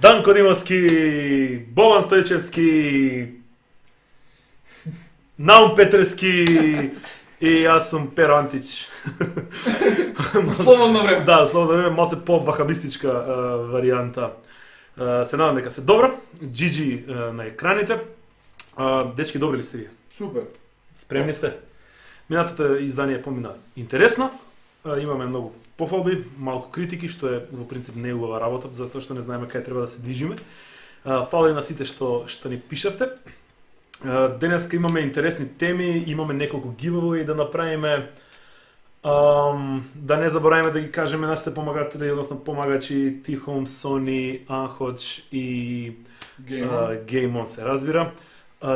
Данко Димовски, Бобан Стојчевски, Наум Петрески и јас сум Перо Антич. Слободно време. Да, слободно време, малце по-вахабистичка варијанта. Се надам дека се добро. Джиджи на екраните. Дечки, добри ли сте вие? Супер. Спремни сте? Минатото издание помина интересно. Имаме многу пофалби, малку критики, што е во принцип не убава работа, затоа што не знаеме кај треба да се движиме. Фала на сите што ни пишавте. Денеска имаме интересни теми, имаме неколку giveaway да направиме. Да не забораваме да ги кажеме нашите помагатели, односно помагачи Тихом, Сони, Анходж и Game On се разбира.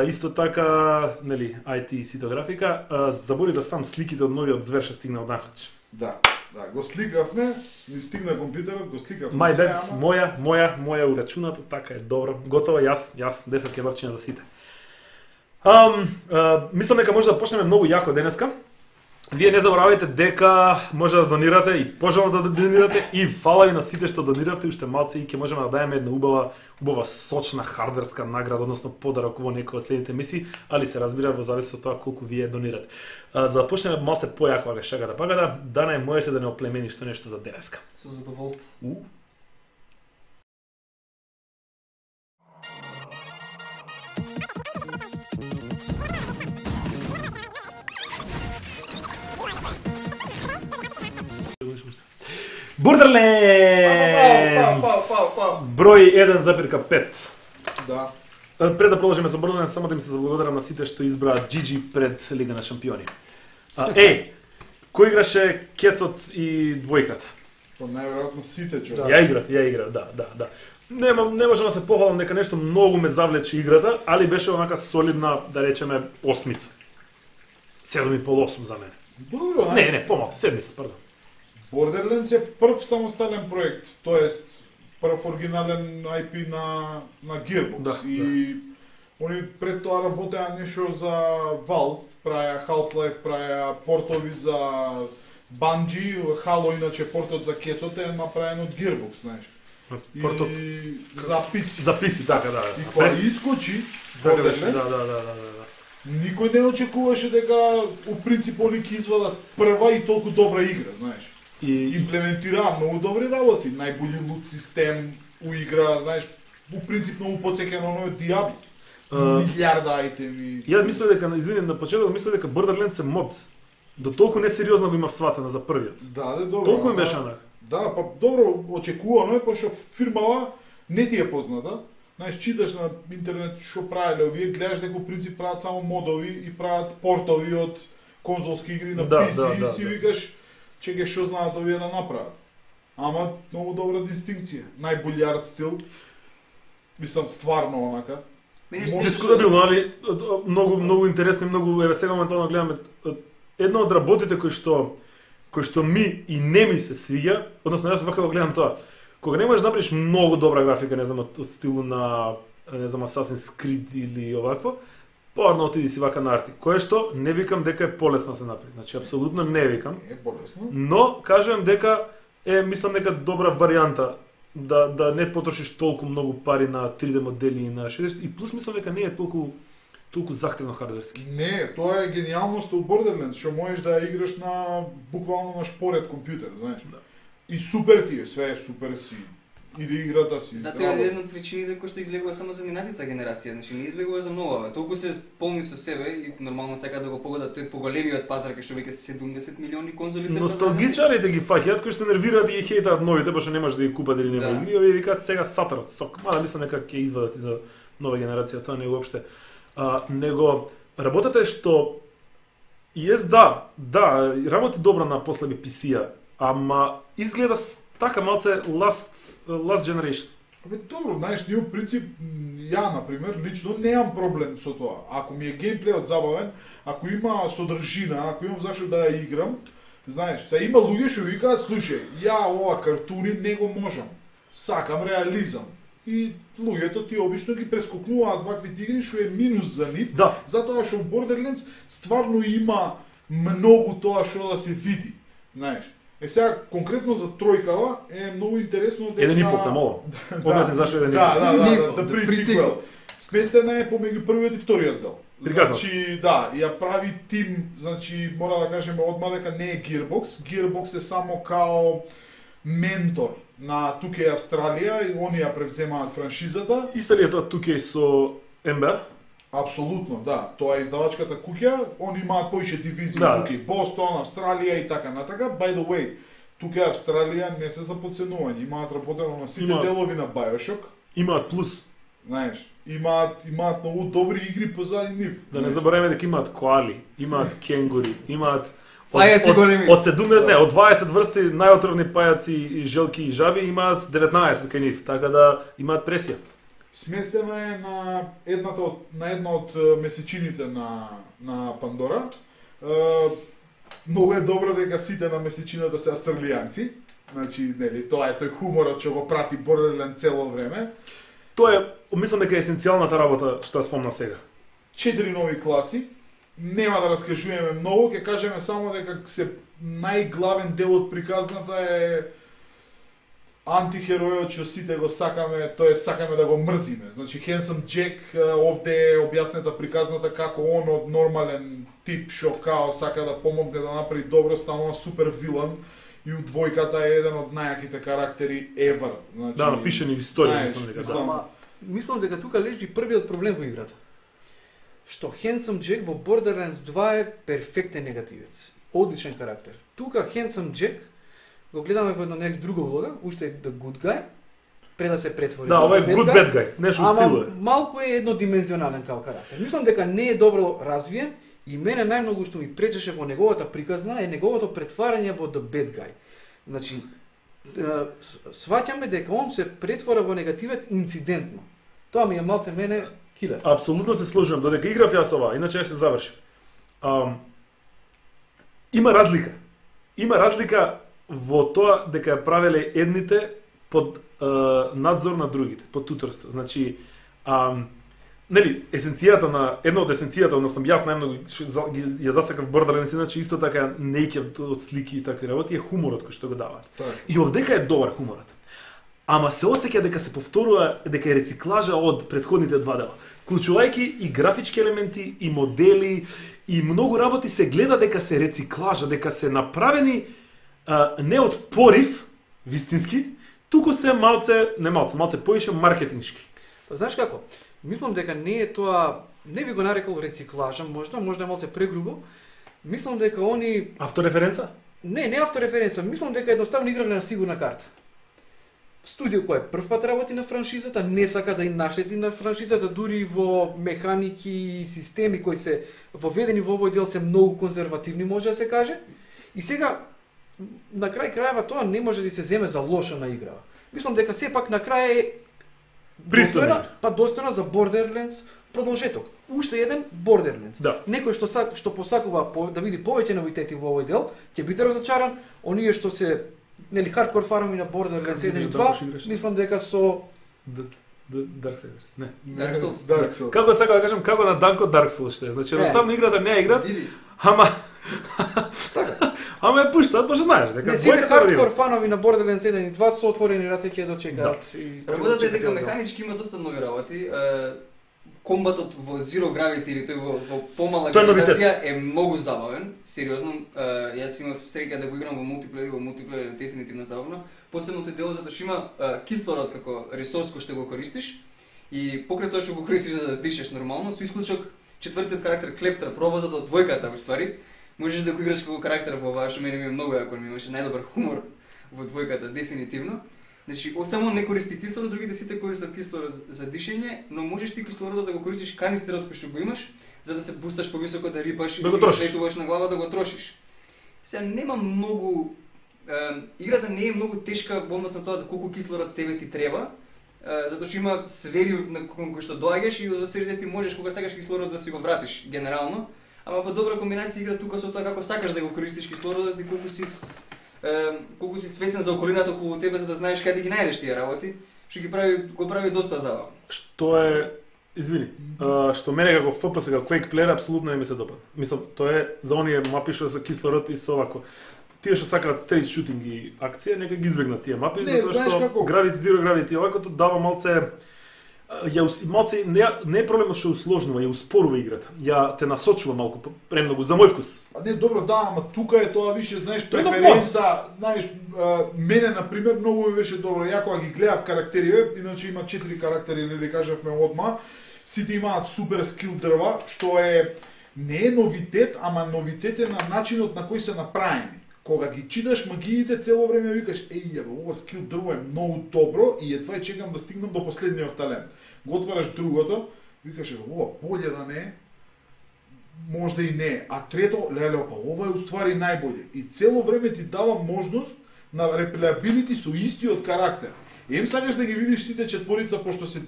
Исто така, нели, IT ситографика, забори да ставам сликите од новиот звер што стигна од Анходж. Да, го сликавме, ни стигна компјутерот, го сликавме. My bad, моја урачуната, така е добро. Готово, јас 10 кебапчиња за сите. Мислам дека може да почнеме многу јако денеска. Вие не заборавајте дека може да донирате и пожелно да донирате и фала ви на сите што дониравте уште малце и ќе можеме да дајеме една убава сочна хардверска награда, односно подарок во некоја од следните емисии, али се разбира во зависност од тоа колку вие донирате. За да почнеме малце појако ага шага да багада, Дана можеш да не оплемениш што нешто за денеска. Со задоволство. Borderlands! Број 1,5. Да. Пред да продолжиме со Borderlands, само да им се заблагодарам на сите што избраат GG пред Лига на шампиони. Кој играше Кецот и двојката? Па најверојатно сите човек. Ја играв, да. Не можам да се похвалам дека нешто многу ме завлече играта, али беше онака солидна, да речеме, осмица. 7,5-8 за мене. Добро, Не, помалку, седмица, пардон. Borderlands е прв самостален проект, тоест прв оригинален IP на Gearbox и они пред тоа работеа нешто за Valve, правеа Half-Life, правеа портови за Bungie, Halo иначе портот за Кецот е направен од Gearbox, знаеш. Портот и за PC. За PC, така, да. И кога искочи Borderlands, да. Никој не очекуваше дека у принцип они ќе извадат прва и толку добра игра, знаеш. И имплементираа многу добри работи, најбољи лут систем у игра, знаеш, у принцип многу потсеќа на оној Diablo. Милиарда айтеми. Ја мислев дека, извини, на почеток мислев дека Borderlands е мод. До толку несериозно го имав сватено за првиот. Да, добро. Толку им беше онака. Да, па добро очекувано е, пошто фирмава не ти е позната. Знаеш, читаш на интернет што правеле овие, гледаш дека у принцип прават само модови и прават портови од конзолски игри на PC и си викаш чеке што знаат овие да направат. Ама многу добра дистинкција. Најбољи арт стил. Мислам стварно онака. Дискутабилно, али многу интересно и многу еве сега моментално гледаме една од работите кои што ми и не ми се свиѓа, односно јас вака го гледам тоа. Кога не можеш да направиш многу добра графика, не знам, од стилу на, не знам, Assassin's Creed или овакво, порно отиди си вака на арти. Кое што не викам дека е полесно да се направи. Значи апсолутно не викам. Не е полесно. Но кажувам дека мислам дека добра варијанта да не потрошиш толку многу пари на 3D модели и на 60 и плюс мислам дека не е толку захтевно хардверски. Не, тоа е гениалноста у Borderlands, што можеш да ја играш на буквално на шпоред компјутер, знаеш. Да. И супер ти е, све е супер си. Иде играта си. Затоа е една од причините кој што излегува само за минатата генерација, значи не излегува за нова. Толку се полни со себе и нормално сака да го погодат тој поголемиот пазар кој што веќе 70 милиони конзоли се. Носталгичарите ги фаќаат кои се нервираат и ги хейтаат новите, баш не може да ги купат или нема игри, овие викаат сега сатарот сок. Мада мислам дека ќе извадат и за нова генерација, тоа не е уопште. Него работата е што да, работи добро на послаби PC-а, ама изгледа така малце last generation. Добро, знаеш, ние в принцип, ја, например, лично немам проблем со тоа. Ако ми е геймплејот забавен, ако има содржина, ако имам зашто да ја играм, знаеш, сега има луѓе што викаат, слушај, ја ова картуни не го можам, сакам реализам. И луѓето ти обично ги прескокнуваат ваквите игри, што е минус за нив, затоа што в Borderlands стварно има многу тоа што да се види, знаеш. Сега, конкретно за тројкава, е многу интересно дека... 1,5 тамово. Објасни зашто 1,5. Да, pre-sequel. Сместена е помеѓу првиот и вториот дел. Значи, да, ја прави тим, значи, мора да кажеме одма дека не е Gearbox. Gearbox е само као ментор на 2K Австралија и они ја превземаат франшизата. Исто ли е тоа 2K со NBA? Апсолутно, да. Тоа е издавачката куќа, они имаат поише дивизии, тука Бостон, Австралија и така натака. By the way, тука Австралија не се за подценување, имаат работено на сите делови на BioShock. Имаат плюс. Знаеш, имаат многу добри игри позади нив. Да не забораваме дека имаат коали, имаат кенгури, имаат пајаци големи. Од 20 врсти најотровни пајаци, желки и жаби, имаат 19 кај нив, така да имаат пресија. Сместена е на една од месечините на Пандора. Многу е добро дека сите на месечината се австралијанци. Значи, нели, тоа е тој хуморот што го прати Borderlands цело време. Тоа е, мислам дека е есенцијалната работа што ја спомна сега. 4 нови класи. Нема да раскажуваме многу, ќе кажеме само дека најглавен дел од приказната е антихеројот што сите го сакаме, тоа е сакаме да го мрзиме. Значи Handsome Jack, овде е објаснета приказната како он од нормален тип што као сака да помогне да направи добро, станува супер вилан и у двојката е еден од најаките карактери ever. Значи, да, напишани историја, мислам дека тука лежи првиот проблем во играта. Што Handsome Jack во Borderlands 2 е перфектен негативец. Одличен карактер. Тука Handsome Jack го гледаме во една нели друга улога, уште е the good guy, пред да се претвори. Да, ова е good bad guy, нешто стило е. Малку е еднодимензионален као карактер. Мислам дека не е добро развиен и мене најмногу што ми пречеше во неговата приказна е неговото претварање во the bad guy. Значи, сваќаме дека он се претвора во негативец инцидентно. Тоа ми е малце мене килер. Апсолутно се сложувам, додека играв јас ова, иначе ќе се завршив. Има разлика. Има разлика во тоа дека ја правеле едните под надзор на другите, под туторство. Значи, нели, една од есенцијата, односно јас најмногу ја засакав Borderlands, иначе исто така неќев од слики и такви работи, е хуморот кој што го даваат. И овдека е добар хуморот. Ама се осеќа дека се повторува, дека е рециклажа од претходните два дела. Вклучувајќи и графички елементи, и модели, и многу работи се гледа дека се рециклажа, дека се направени не од порив, вистински, туку се малце поише маркетиншки. Па знаеш како? Мислам дека не е тоа, не би го нарекол рециклажа, можда е малце прегрубо. Мислам дека они автореференца? Не автореференца, мислам дека едноставно играле на сигурна карта. Студио кој прв пат работи на франшизата, не сака да и наштети на франшизата, дури во механики и системи кои се воведени во овој дел се многу конзервативни, може да се каже. И сега на крај крајава тоа не може да се земе за лошо на игра. Мислам дека сепак на крај е достојна за Borderlands продолжеток. Уште еден Borderlands. Да. Некој што посакува да види повеќе новитети во овој дел, ќе биде разочаран. Оние што се хардкор фанови на Borderlands 1 и 2, мислам дека со Darksiders, не. Dark Souls. Како сакам да кажам, како на Данко Dark Souls што е. Значи, едноставно играта не е игра, ама ама е пуштаат, баш знаеш дека двојката хардкор фанови на Borderlands 1 и 2 со отворени раце ќе дочекаат. Работата е дека механички има доста нови работи. Комбатот во Zero Gravity или тој во помала гравитација е многу забавен, сериозно. Јас имав среќа да го играм во мултиплеер е дефинитивно забавно. Посебно тој дел затоа што има кислород како ресурс кој што го користиш и покрај тоа што го користиш за да дишеш нормално, со исклучок четвртиот карактер Клептра, роботот од двојката во ствари, можеш да го играш како карактер во оваа што мене ми е многу јако, ми имаше најдобар хумор во двојката дефинитивно. Значи, само не користи кислород, другите сите користат кислород за дишење, но можеш ти кислородот да го користиш канистерот кој што го имаш, за да се бусташ повисоко, да рипаш и Да го да трошиш. слетуваш на глава, да го трошиш. Сега нема многу играта не е многу тешка во однос на тоа колку кислород тебе ти треба, затоа што има сфери на кои што доаѓаш и во сферите ти можеш кога сакаш кислород да си го вратиш генерално, ама по добра комбинација игра тука со тоа како сакаш да го користиш кислородот и колку си свесен за околината околу тебе за да знаеш каде ги најдеш тие работи, што го прави доста забавно. Што е, извини, што мене како FPS, како Quake player, апсолутно не ми се допада. Мислам, тоа е за оние мапи што со кислород и со овако. Тие што сакаат стрейт шутинг и акција, нека ги избегнат тие мапи, Не, затоа знаеш што како? Gravity Zero, Gravity овакото дава малце малце не е проблемот што усложнува, ја успорува играта. Ја те насочува малку премногу за мој вкус. Не, добро, да, ама тука е тоа више, знаеш, Тоа е нов преференца, знаеш, мене, например, многу ми беше добро. Ја кога ги гледав карактериве, иначе има 4 карактери, нели кажавме одма, сите имаат супер скил дрва, што не е новитет, ама новитет е на начинот на кој се направени. Кога ги читаш магиите, цело време викаш, еј, ова скил дрво е многу добро и едва чекам да стигнам до последниот талент. Го отвараш другото, викаш, ова боле да не е, можда и не, а трето, леле, па ова е уствари најболе. И цело време ти дава можност на реплеабилити со истиот карактер. Ем сакаш да ги видиш сите четворица, пошто се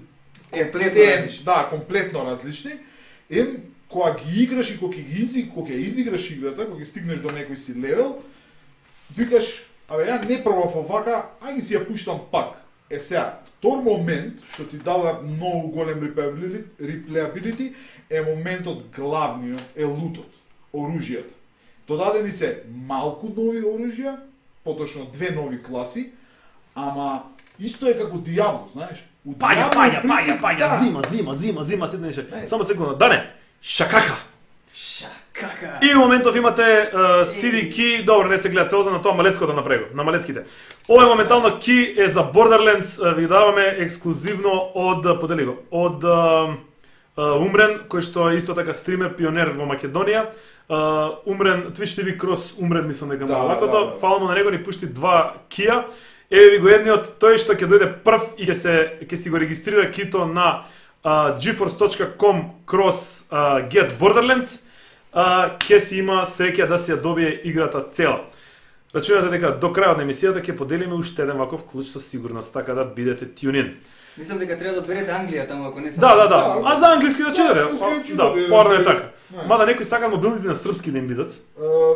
Комплетно различни. Да, комплетно различни. Ем, кога ги играш и кога ќе изиграш играта, кога ќе стигнеш до некој си левел, викаш, абе ја не пробав овака, ајде си ја пуштам пак. Сега, втор момент, што ти дава многу голем реплеабилити, е моментот главниот, е лутот, оружјата. Додадени се малку нови оружја, поточно 2 нови класи, ама исто е како Диабло, знаеш? У Диабло, в принцип, да. зима, седнеше. Само секунда, Дане, шакака. Шакака. И во моментов имате CD ки, добро, не се гледа целото на тоа малецкото напрего, на малецките. Ова е моментално ки е за Borderlands, ви даваме ексклузивно од подели го, од Умрен, кој што е исто така стример, пионер во Македонија. Умрен, Twitch TV Cross Умрен, мислам дека Да, лакото, да. фала му на него ни пушти 2 кија. Еве ви го едниот, тој што ќе дојде прв и ќе си го регистрира кито на geforce.com cross get Borderlands, ќе си има среќа да си ја добие играта цела. Рачунате дека до крајот на емисијата ќе поделиме уште еден ваков клуч со сигурност, така да бидете тюнин. Мислам дека треба да одберете Англија таму ако не се. Да. А за англиски да читате? Да, порно е така. Не. Мада некои сакаат мобилните на српски да им бидат.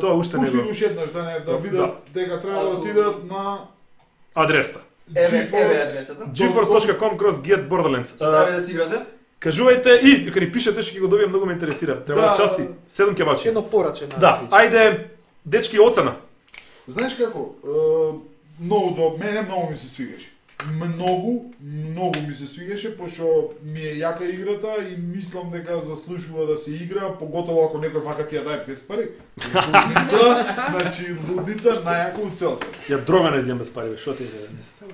Тоа уште не Пушти го. уште еднаш да видат дека треба да отидат на Адреста. Еве адресата. geforce.com cross get Borderlands. Стави да си играте. Кажувајте и дека ни пишете што ќе го добијам, многу ме интересира. Треба да Да. части 7 кебабчи. Едно пораче на Да, Twitch. ајде дечки оцена. Знаеш како, многу до мене многу ми се свигаше. Многу ми се свигаше, пошто ми е јака играта и мислам дека заслужува да се игра, поготово ако некој вака ти ја даде без пари. Лудница, значи лудница најако у цел свет. Ја дрога не земам без пари, бе, што ти не се.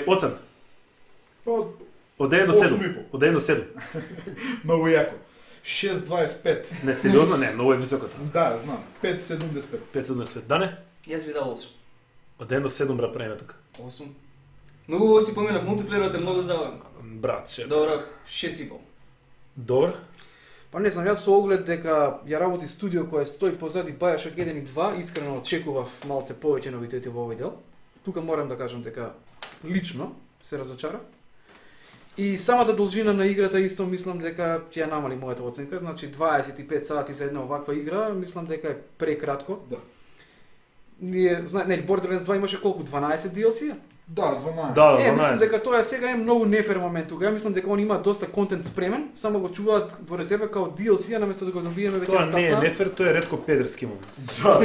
Оцена. Па, Од 1 до 8,5. 7. Од 1 до 7. многу јако. 6,25. Не, сериозно не, многу е високото. Да, знам. 5,75. 5,75. Дане? Јас би дал 8. Од 1 до 7 брат правиме тука. 8. Многу си поминав, мултиплеерот е многу забавен. Брат, ше. Добро, 6,5. Добро. Па не знам, јас со оглед дека ја работи студио кое стои позади Bioshock 1 и 2, искрено очекував малце повеќе новитети во овој дел. Тука морам да кажам дека лично се разочарав. И самата должина на играта исто мислам дека ќе ја намали мојата оценка, значи 25 сати за една оваква игра, мислам дека е прекратко. Да. Ние, Borderlands 2 имаше колку 12 DLC-а? Да, 12. Да, Мислам дека тоа сега е многу нефер момент тука. Ја мислам дека он има доста контент спремен, само го чуваат во резерва као DLC-а наместо да го добиеме веќе Тоа на не е тафна. нефер, тоа е ретко педерски момент. Да.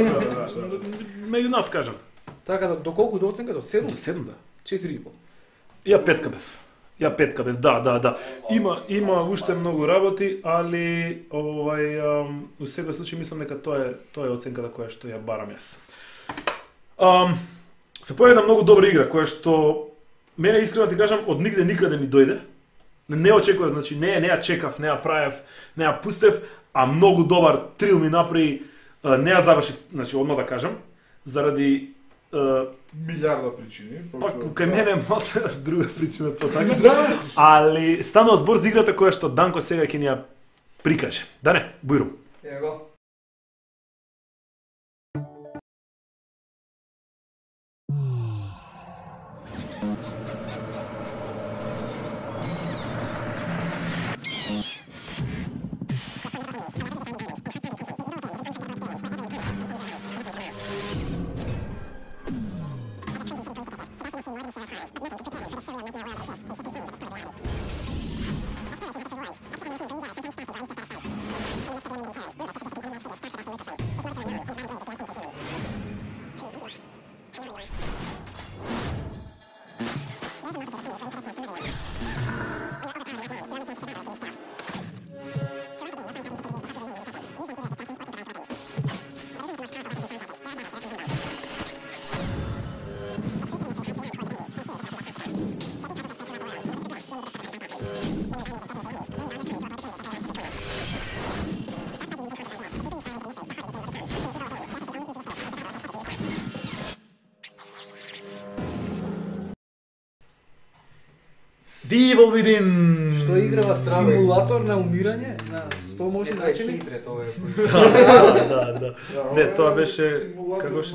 Меѓу нас кажам. Така да, до колку до оценка? До 7? До 7 да. 4,5. Ја петка бев. Да. Има уште многу работи, али у секој случај мислам дека тоа е оценката која што ја барам јас. Се појави една многу добра игра која што мене искрено ти кажам од нигде никаде ми дојде. Не очекував, значи не ја чекав, не ја правев, не ја пустев, а многу добар трил ми направи, не ја завршив, значи одма да кажам, заради Милиарда причини. па кај мене е малце друга причина по така. Да. Али станува збор за играта која што Данко сега ќе ни ја прикаже. Да не, бујрум. Ево го. Evil Within. Што играва симулатор на умирање на 100 можни начини. Хитрет, ова е. Да. Не, тоа беше како беше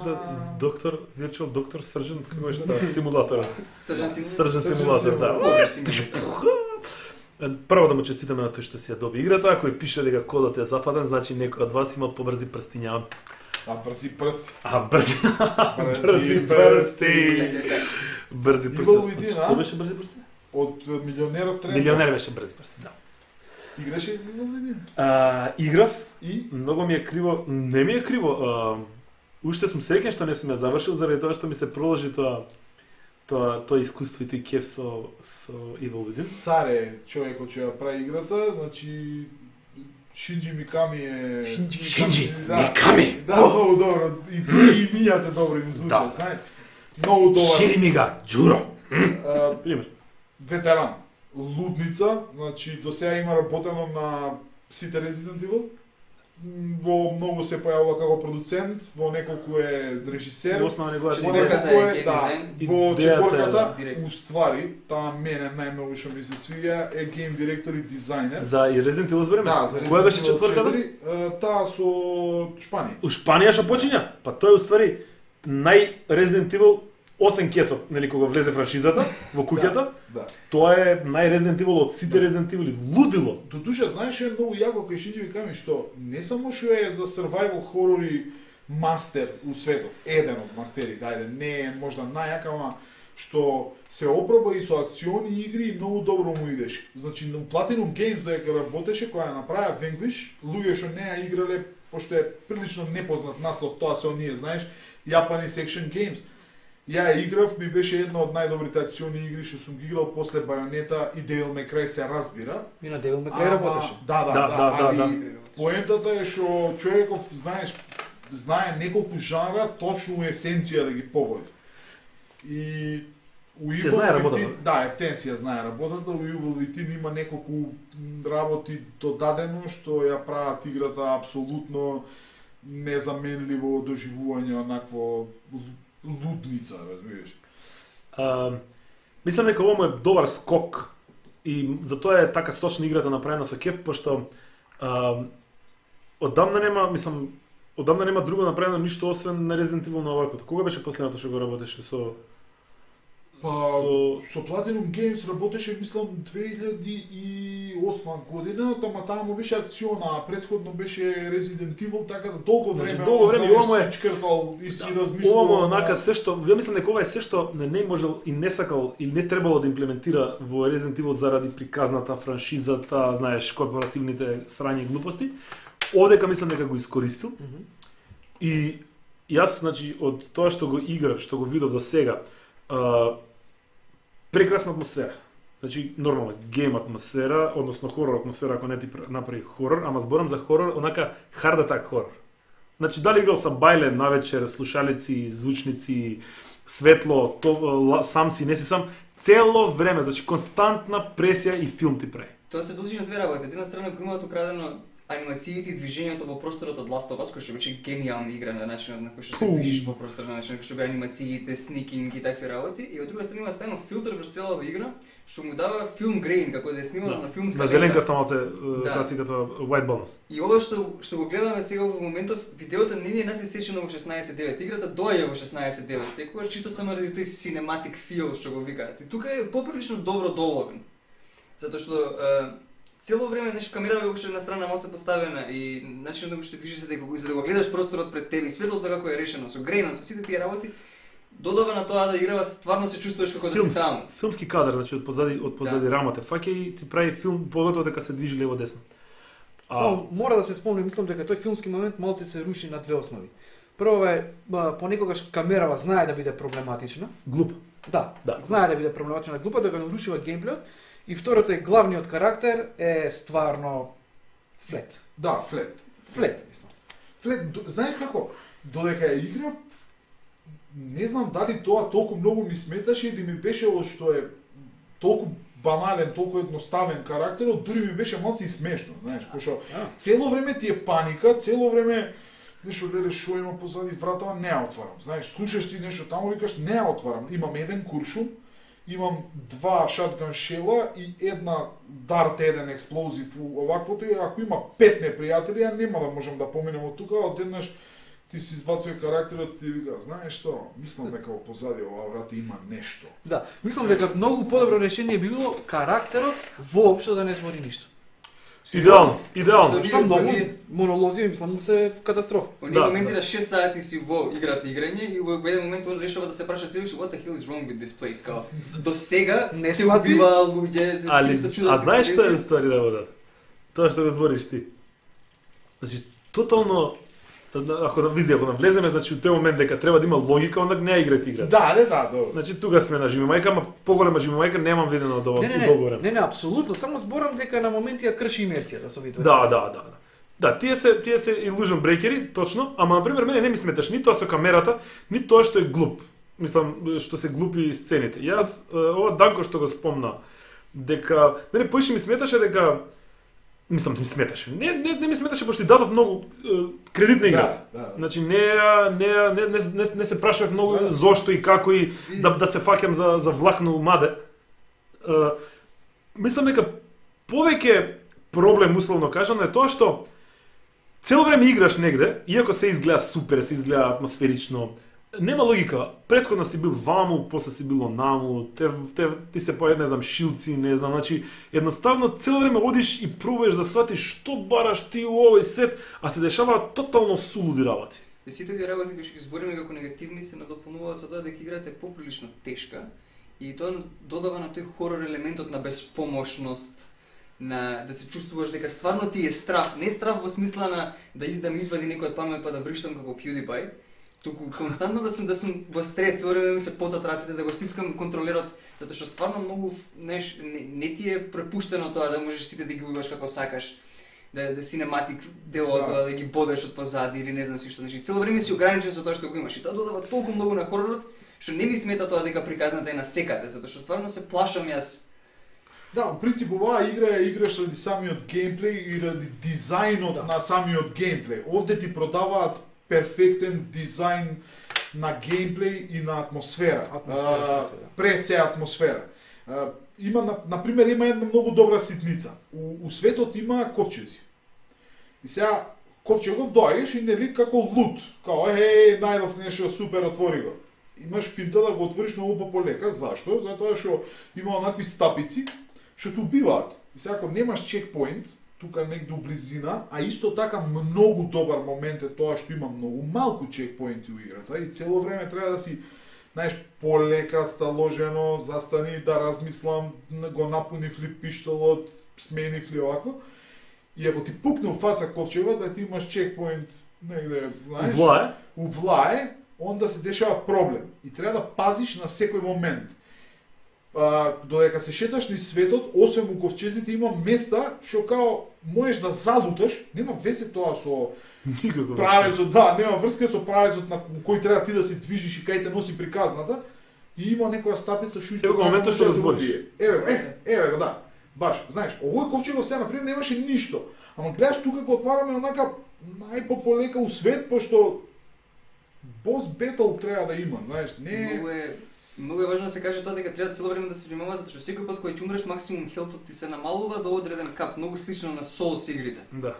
доктор, Virtual Doctor Surgeon, како беше симулатор. Surgeon симулатор, да. Прво да му честитаме на тој што си ја доби играта, ако пише дека кодот е зафатен, значи некој од вас има побрзи прстиња. Брзи прсти. Брзи прсти. Што беше брзи прсти? Од Милионерот тренер. Милионер беше брзи прсти, да. Играше Evil Within? Играв. И? Многу ми е криво. Не ми е криво. Уште сум среќен што не сум ја завршил заради тоа што ми се проложи тоа искуство и тој кеф со Evil Within. Царе човекот што ја прави играта, значи Шинджи Миками е... Шинджи Миками! Да, многу добро. И имињата добро им звучат, знаеш. Многу добро. Ширимига Џуро. Пример. Ветеран. Лудница, значи до сега има работено на сите Resident Evil. Во многу се појавува како продуцент, во неколку е режисер. Четворката е гейм дизајн. Во четворката, уствари, таа мене најмногу што ми се свиѓа е гейм директор и дизајнер. За и Resident Evil збориме? Да, за која беше четврката? Таа со Шпанија. У Шпанија што почиња? Па тој уствари нај-Resident Evil 8 кецот, нели кога влезе франшизата во куќата. Да. Тоа е нај-Resident Evil од сите Resident Evil. Лудило. Додуша, знаеш што е многу јако кај Шинджи Миками, што не само што е за survival хорори мастер у светот, еден од мастерите, ајде, не е можда најјак, ама што се опроба и со акциони игри и многу добро му идеше. Значи, на Platinum Games додека работеше, која ја направи Vanquish, луѓе што не ја играле, пошто е прилично непознат наслов, тоа се оние, знаеш, Japanese Action Games. Ја ја играв, ми беше една од најдобрите акциони игри што сум ги играл после Байонета и Devil May Cry се разбира. И на Devil May Cry работеше. Да. Поентата е што човеков, знаеш, знае неколку жанра точно у есенција да ги погоди. И у се знае работата. Да, ефтен знае работата, у Evil Within има неколку работи додадено што ја прават играта апсолутно незаменливо доживување онакво лудница, разбираш. Мислам дека ова е добар скок и затоа е така сочна играта направена со кеф, пошто одамна нема друго направено ништо освен на Resident Evil на оваквото. Кога беше последното што го работеше со со Platinum Games работеше, мислам, 2008 година, таа му беше акциона, а претходно беше Resident Evil, така да долго време ова е чкртал и си размислувал. Ова онака се што, ја мислам дека ова е се што не можел и не сакал или не требало да имплементира во Resident Evil заради приказната, франшизата, знаеш, корпоративните срања и глупости. Одека мислам дека го искористил. И јас, значи, од тоа што го играв, што го видов до сега, прекрасна атмосфера. Значи, нормално, гейм атмосфера, односно хорор атмосфера, ако не ти направи хорор, ама зборам за хорор, онака hard attack хорор. Значи, дали играл сам бајле навечер, слушалици, звучници, светло, сам си, не си сам, цело време, значи константна пресија и филм ти прави. Тоа се дължи на две работи. Од една страна, ако имаат украдено анимациите и движењето во просторот од Last of Us, кој што беше генијална игра на начинот на кој што се движиш во просторот, на начинот кој што беа анимациите, сникинг и такви работи, и од друга страна има стајно филтер врз целава игра, што му дава филм грейн, како да е снимано на филмска лента. На зеленкаста малце класиката white balance. И ова што го гледаме сега во моментов, видеото не ни е насечено во 16:9, играта доаѓа во 16:9, секогаш чисто само ради тој cinematic feel што го викаат. И тука е поприлично добро доловен. Затоа што цело време камерата како што е на страна малце поставена и начинот на кој што се движи за да го гледаш просторот пред тебе и светлото како е решено со грейнот, со сите тие работи, додава на тоа да играва, стварно се чувствуваш како да си таму. Филмски кадар, значи од позади рамата фаќа и ти прави филм поготово дека се движи лево десно. Само мора да се спомне, мислам дека тој филмски момент малце се руши на две основи. Прво е понекогаш камерава знае да биде проблематична. Глуп. Да. Знае да биде проблематична, глупа да го нарушува геймплејот. И второто е главниот карактер е стварно флет. Да, флет. Мислам. Флет, знаеш како, додека ја играв, не знам дали тоа толку многу ми сметаше или ми беше што е толку банален, толку едноставен карактерот, дури ми беше малку и смешно, знаеш, пошто цело време ти е паника, цело време нешто гледаш што има позади вратава, не ја отварам. Знаеш, слушаш ти нешто таму, викаш не ја отварам. Имам еден куршум, имам 2 шатган шела и една дарт еден експлозив оваквото, и ако има 5 непријатели, ја нема да можам да поминем од тука, одеднаш ти си избацува карактерот и ти вика, знаеш што, мислам дека во позади оваа врата има нешто. Да, мислам дека многу подобро решение би било карактерот воопшто да не збори ништо. Идеално. Што многу монолози, мислам, се катастрофа. Оние моменти на 6 сати си во играта играње и во еден момент он решава да се праша себе what the hell is wrong with this place, као до сега не се убива луѓе, а знаеш што е ствари да водат? Тоа што го збориш ти. Значи тотално ако навлеземе, значи во тој момент дека треба да има логика, онда не играте. Да. Значи тука сме на жимимајка, ама поголема жимимајка немам видено од ова договор. Не, апсолутно, само зборам дека на моменти ја крши имерсијата со видео. Да. Да, тие се illusion breakeri, точно, ама на пример мене не ми сметаш ни тоа со камерата, ни тоа што е глуп. Мислам што се глупи сцените. Јас ова Данко што го спомна дека мене поише ми сметаше дека мислам ти ми сметаше. Не ми сметаше пошто дадов многу кредит на играта. Да. Значи не се прашав многу зошто и како и да се фаќам за влакно маде. Мислам дека повеќе проблем условно кажано е тоа што цело време играш негде, иако се изгледа супер, се изгледа атмосферично, нема логика. Претходно си бил ваму, после си било наму, ти се појават, не знам, шилци, не знам, значи едноставно цело време одиш и пробуваш да сватиш што бараш ти во овој свет, а се дешаваат тотално сулуди работи. Сите овие работи кои што ги збориме како негативни се надополнуваат со тоа дека играта е поприлично тешка и тоа додава на тој хорор елементот на безпомошност, на да се чувствуваш дека стварно ти е страв, не страв во смисла на да ми извади некој од памет па да врштам како PewDiePie, туку константно да сум во стрес, цело време да ми се потат рацете, да го стискам контролерот, затоа што стварно многу не ти е препуштено тоа да можеш сите да ги убиваш како сакаш, да синематик делот, да ги бодеш од позади или не знам си што, значи цело време си ограничен со тоа што го имаш и тоа додава толку многу на хоророт, што не ми смета тоа дека приказната е на секаде, затоа што стварно се плашам јас. Да, во принцип оваа игра ја играш ради самиот геймплей и ради дизајнот на самиот геймплей. Овде ти продаваат перфектен дизајн на геймплей и на атмосфера. Пред се атмосфера. Има, например, има една многу добра ситница. У светот има ковчези. И сега ковчегов доаѓаш и нели како лут, као најдов нешто супер, отвори го. Имаш финта да го отвориш многу полека. Зашто? Затоа што има онакви стапици што те убиваат. И сега ако немаш чекпоинт, тука негде у близина, а исто така многу добар момент е тоа што има многу малку чекпоинти у играта и цело време треба да си, знаеш, полека сталожено, застани да размислам, го напунив ли пиштолот, сменив ли овако. И ако ти пукне у фаца ковчегот, да ти имаш чекпоинт негде, знаеш, у влае, онда се дешава проблем. И треба да пазиш на секој момент. Додека се шеташ низ светот, освен у ковчезите има места што као можеш да залуташ, нема везе тоа со правецот, нема врска со правецот на кој треба ти да се движиш и кај те носи приказната, и има некоја стапица што исто моментот што разбориш. Еве го, да. Баш, знаеш, овој ковчегот сега например немаше ништо, Ама гледаш тука го отвараме онака најпополека у свет, пошто бос бетл треба да има, знаеш, не Многу е важно да се каже тоа дека треба цело време да се внимава, затоа што секој пат кога ќе умреш максимум хелтот ти се намалува до одреден кап, многу слично на Souls игрите. Да.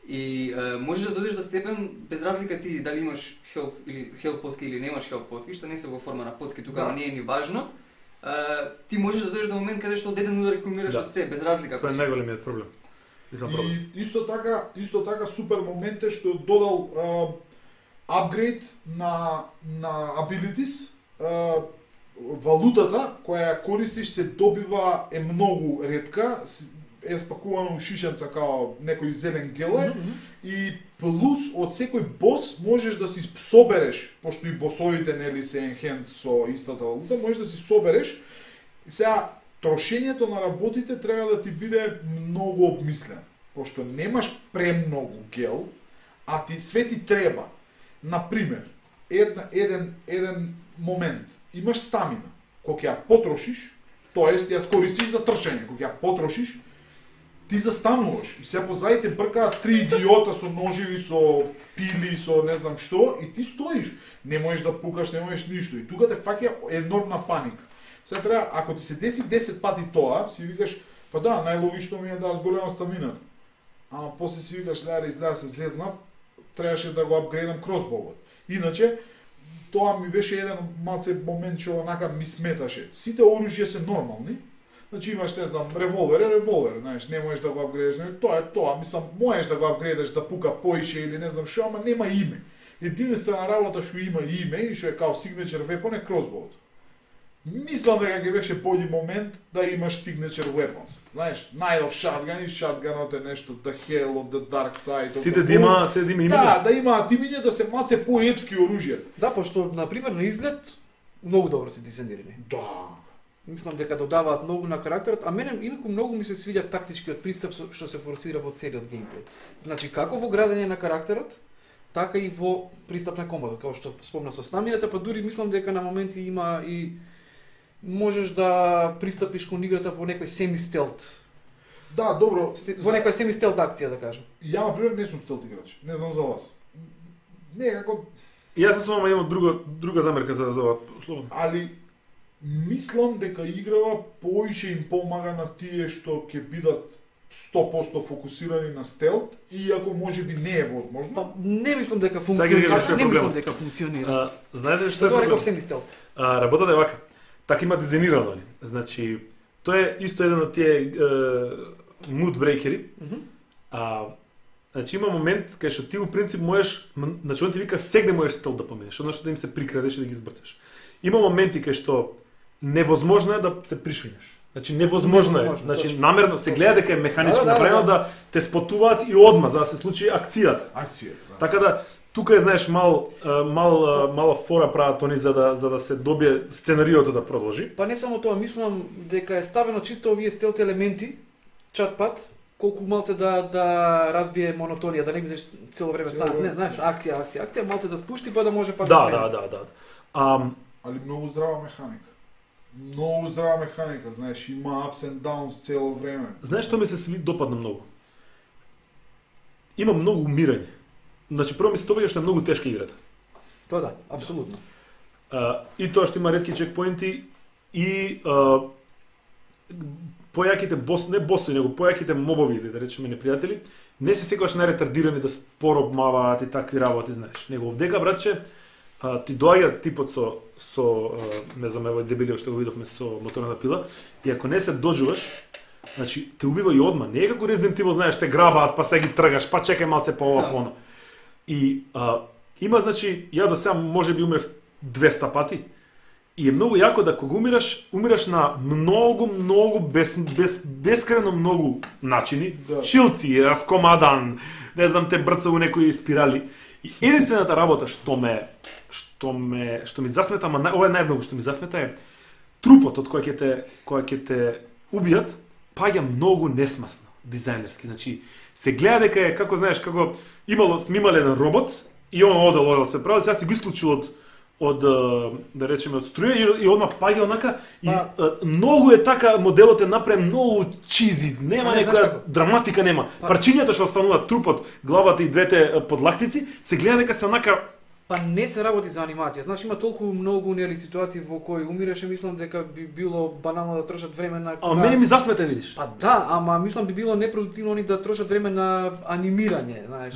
И можеш да дојдеш до степен без разлика ти дали имаш хелт или хелт потки или немаш хелт потки, што не се во форма на потки, тука не е ни важно. Ти можеш да дојдеш до момент каде што од еден удар ќе умираш од се, без разлика. Тоа е најголемиот проблем. И исто така супер момент е што додал апгрейд на abilities, валутата која ја користиш се добива е многу ретка, е спакувано у шишенца као некој зелен геле и плюс од секој бос можеш да си собереш, пошто и босовите нели се enhance со истата валута, можеш да си собереш. И сега трошењето на работите треба да ти биде многу обмислено, пошто немаш премногу гел, а ти све ти треба. Например, еден момент, имаш стамина, кога ја потрошиш, тоест ја користиш за трчање, кога ја потрошиш, ти застануваш и се позаите бркаат три идиота со ноживи, со пили, со не знам што, и ти стоиш, не можеш да пукаш, не можеш ништо, и тука те фаќа енормна паника. Сега треба, ако ти се деси 10 пати тоа, си викаш, па да, најлогично ми е да зголемам стамината. Ама после си викаш, леда изгледа се зезнав, требаше да го апгрейдам кросболот. Иначе, тоа ми беше еден малце момент што онака ми сметаше. Сите оружја се нормални. Значи имаш, не знам, револвер, знаеш, не можеш да го апгрейдаш, тоа е тоа, мислам, можеш да го апгрейдаш да пука поише или не знам што, ама нема име. Единствена работа што има име и што е као signature weapon е кросболот. Мислам дека ќе беше појди момент да имаш signature weapons. Знаеш, Night of Shotgun и Shotgunот е нешто the hell of the dark side. Сите да има имиња. Да имаат имиња, да се маце поепски оружја. Да, пошто на пример на изглед многу добро се дизајнирани. Да. Мислам дека додаваат многу на карактерот, а мене инаку многу ми се свиѓа тактичкиот пристап што се форсира во целиот геймплей. Значи како во градење на карактерот, така и во пристап на комбато, како што спомна со стамината, па дури мислам дека на моменти има и можеш да пристапиш кон играта во некој семи-стелт. Да, добро. Во некоја семи-стелт акција, да кажам. Ја, например, не сум стелт играч. Не знам за вас. Не, како... Јас сум имам друга замерка за ова слово. Али, мислам дека играва поише им помага на тие што ќе бидат 100% фокусирани на стелт, иако можеби не е возможно. Па, не мислам дека функционира. Не мислам дека функционира. Знаете што е тоа проблем? реков семи-стелт. Работата е вака. Така има дизајнирано, значи тоа е исто еден од тие mood breakeri. Значи има момент кај што ти во принцип можеш, значи он ти вика сегде можеш стел да поминеш, односно да им се прикрадеш и да ги избрцаш. Има моменти кај што невозможно е да се пришуњаш. Значи невозможно е. Значи намерно се гледа дека е механички направено да те спотуваат и одма за да се случи акцијата. Да. Така да тука е, знаеш, мала фора прават они за да се добие сценариото да продолжи. Па не само тоа, мислам дека е ставено чисто овие стелт елементи, чат-пат, колку малце да разбие монотонија, да не бидеш цело време стана, не, знаеш, акција, малце да спушти па да може пак да. Али многу здрава механика. Многу здрава механика, знаеш, има ups and downs цело време. Знаеш што ми се допадна многу? Има многу умирање. Значи прво ми се тоа што е многу тешка играта. Тоа да, апсолутно. И тоа што има ретки чекпоинти и појаките босови, него појаките мобови, да речеме непријатели, не се секогаш најретардирани да споро обмаваат и такви работи, знаеш. Него овдека, братче, ти доаѓа типот со не знам, евој дебелиот што го видовме со моторната пила, и ако не се доџуваш, значи те убива и одма. Не е како Resident Evil, знаеш, те грабаат, па се ги тргаш, па чекај малце по ова, по она. И има, значи, ја до сега можеби умрев 200 пати. И е многу јако да кога умираш на многу бескрајно многу начини, шилци, раскомадан, не знам, те брца у некои спирали. И единствената работа што ми засмета, ама ова е најмногу што ми засмета е трупот од кој ќе те убијат, паѓа многу несмасно, дизајнерски. Значи, се гледа дека е, како знаеш, како имале еден робот и он одел се прави, сега си го исклучил од да речеме од струја и одма паѓа онака и многу е така моделот е направен многу чизи, нема некоја драматика нема. Парчињата што остануваат трупот, главата и двете подлактици се гледа дека се онака. Па не се работи за анимација. Знаеш, има толку многу нели ситуации во кои умираше, мислам дека би било банално да трошат време на мене ми засмета, видиш. Па да, ама мислам би било непродуктивно они да трошат време на анимирање, знаеш.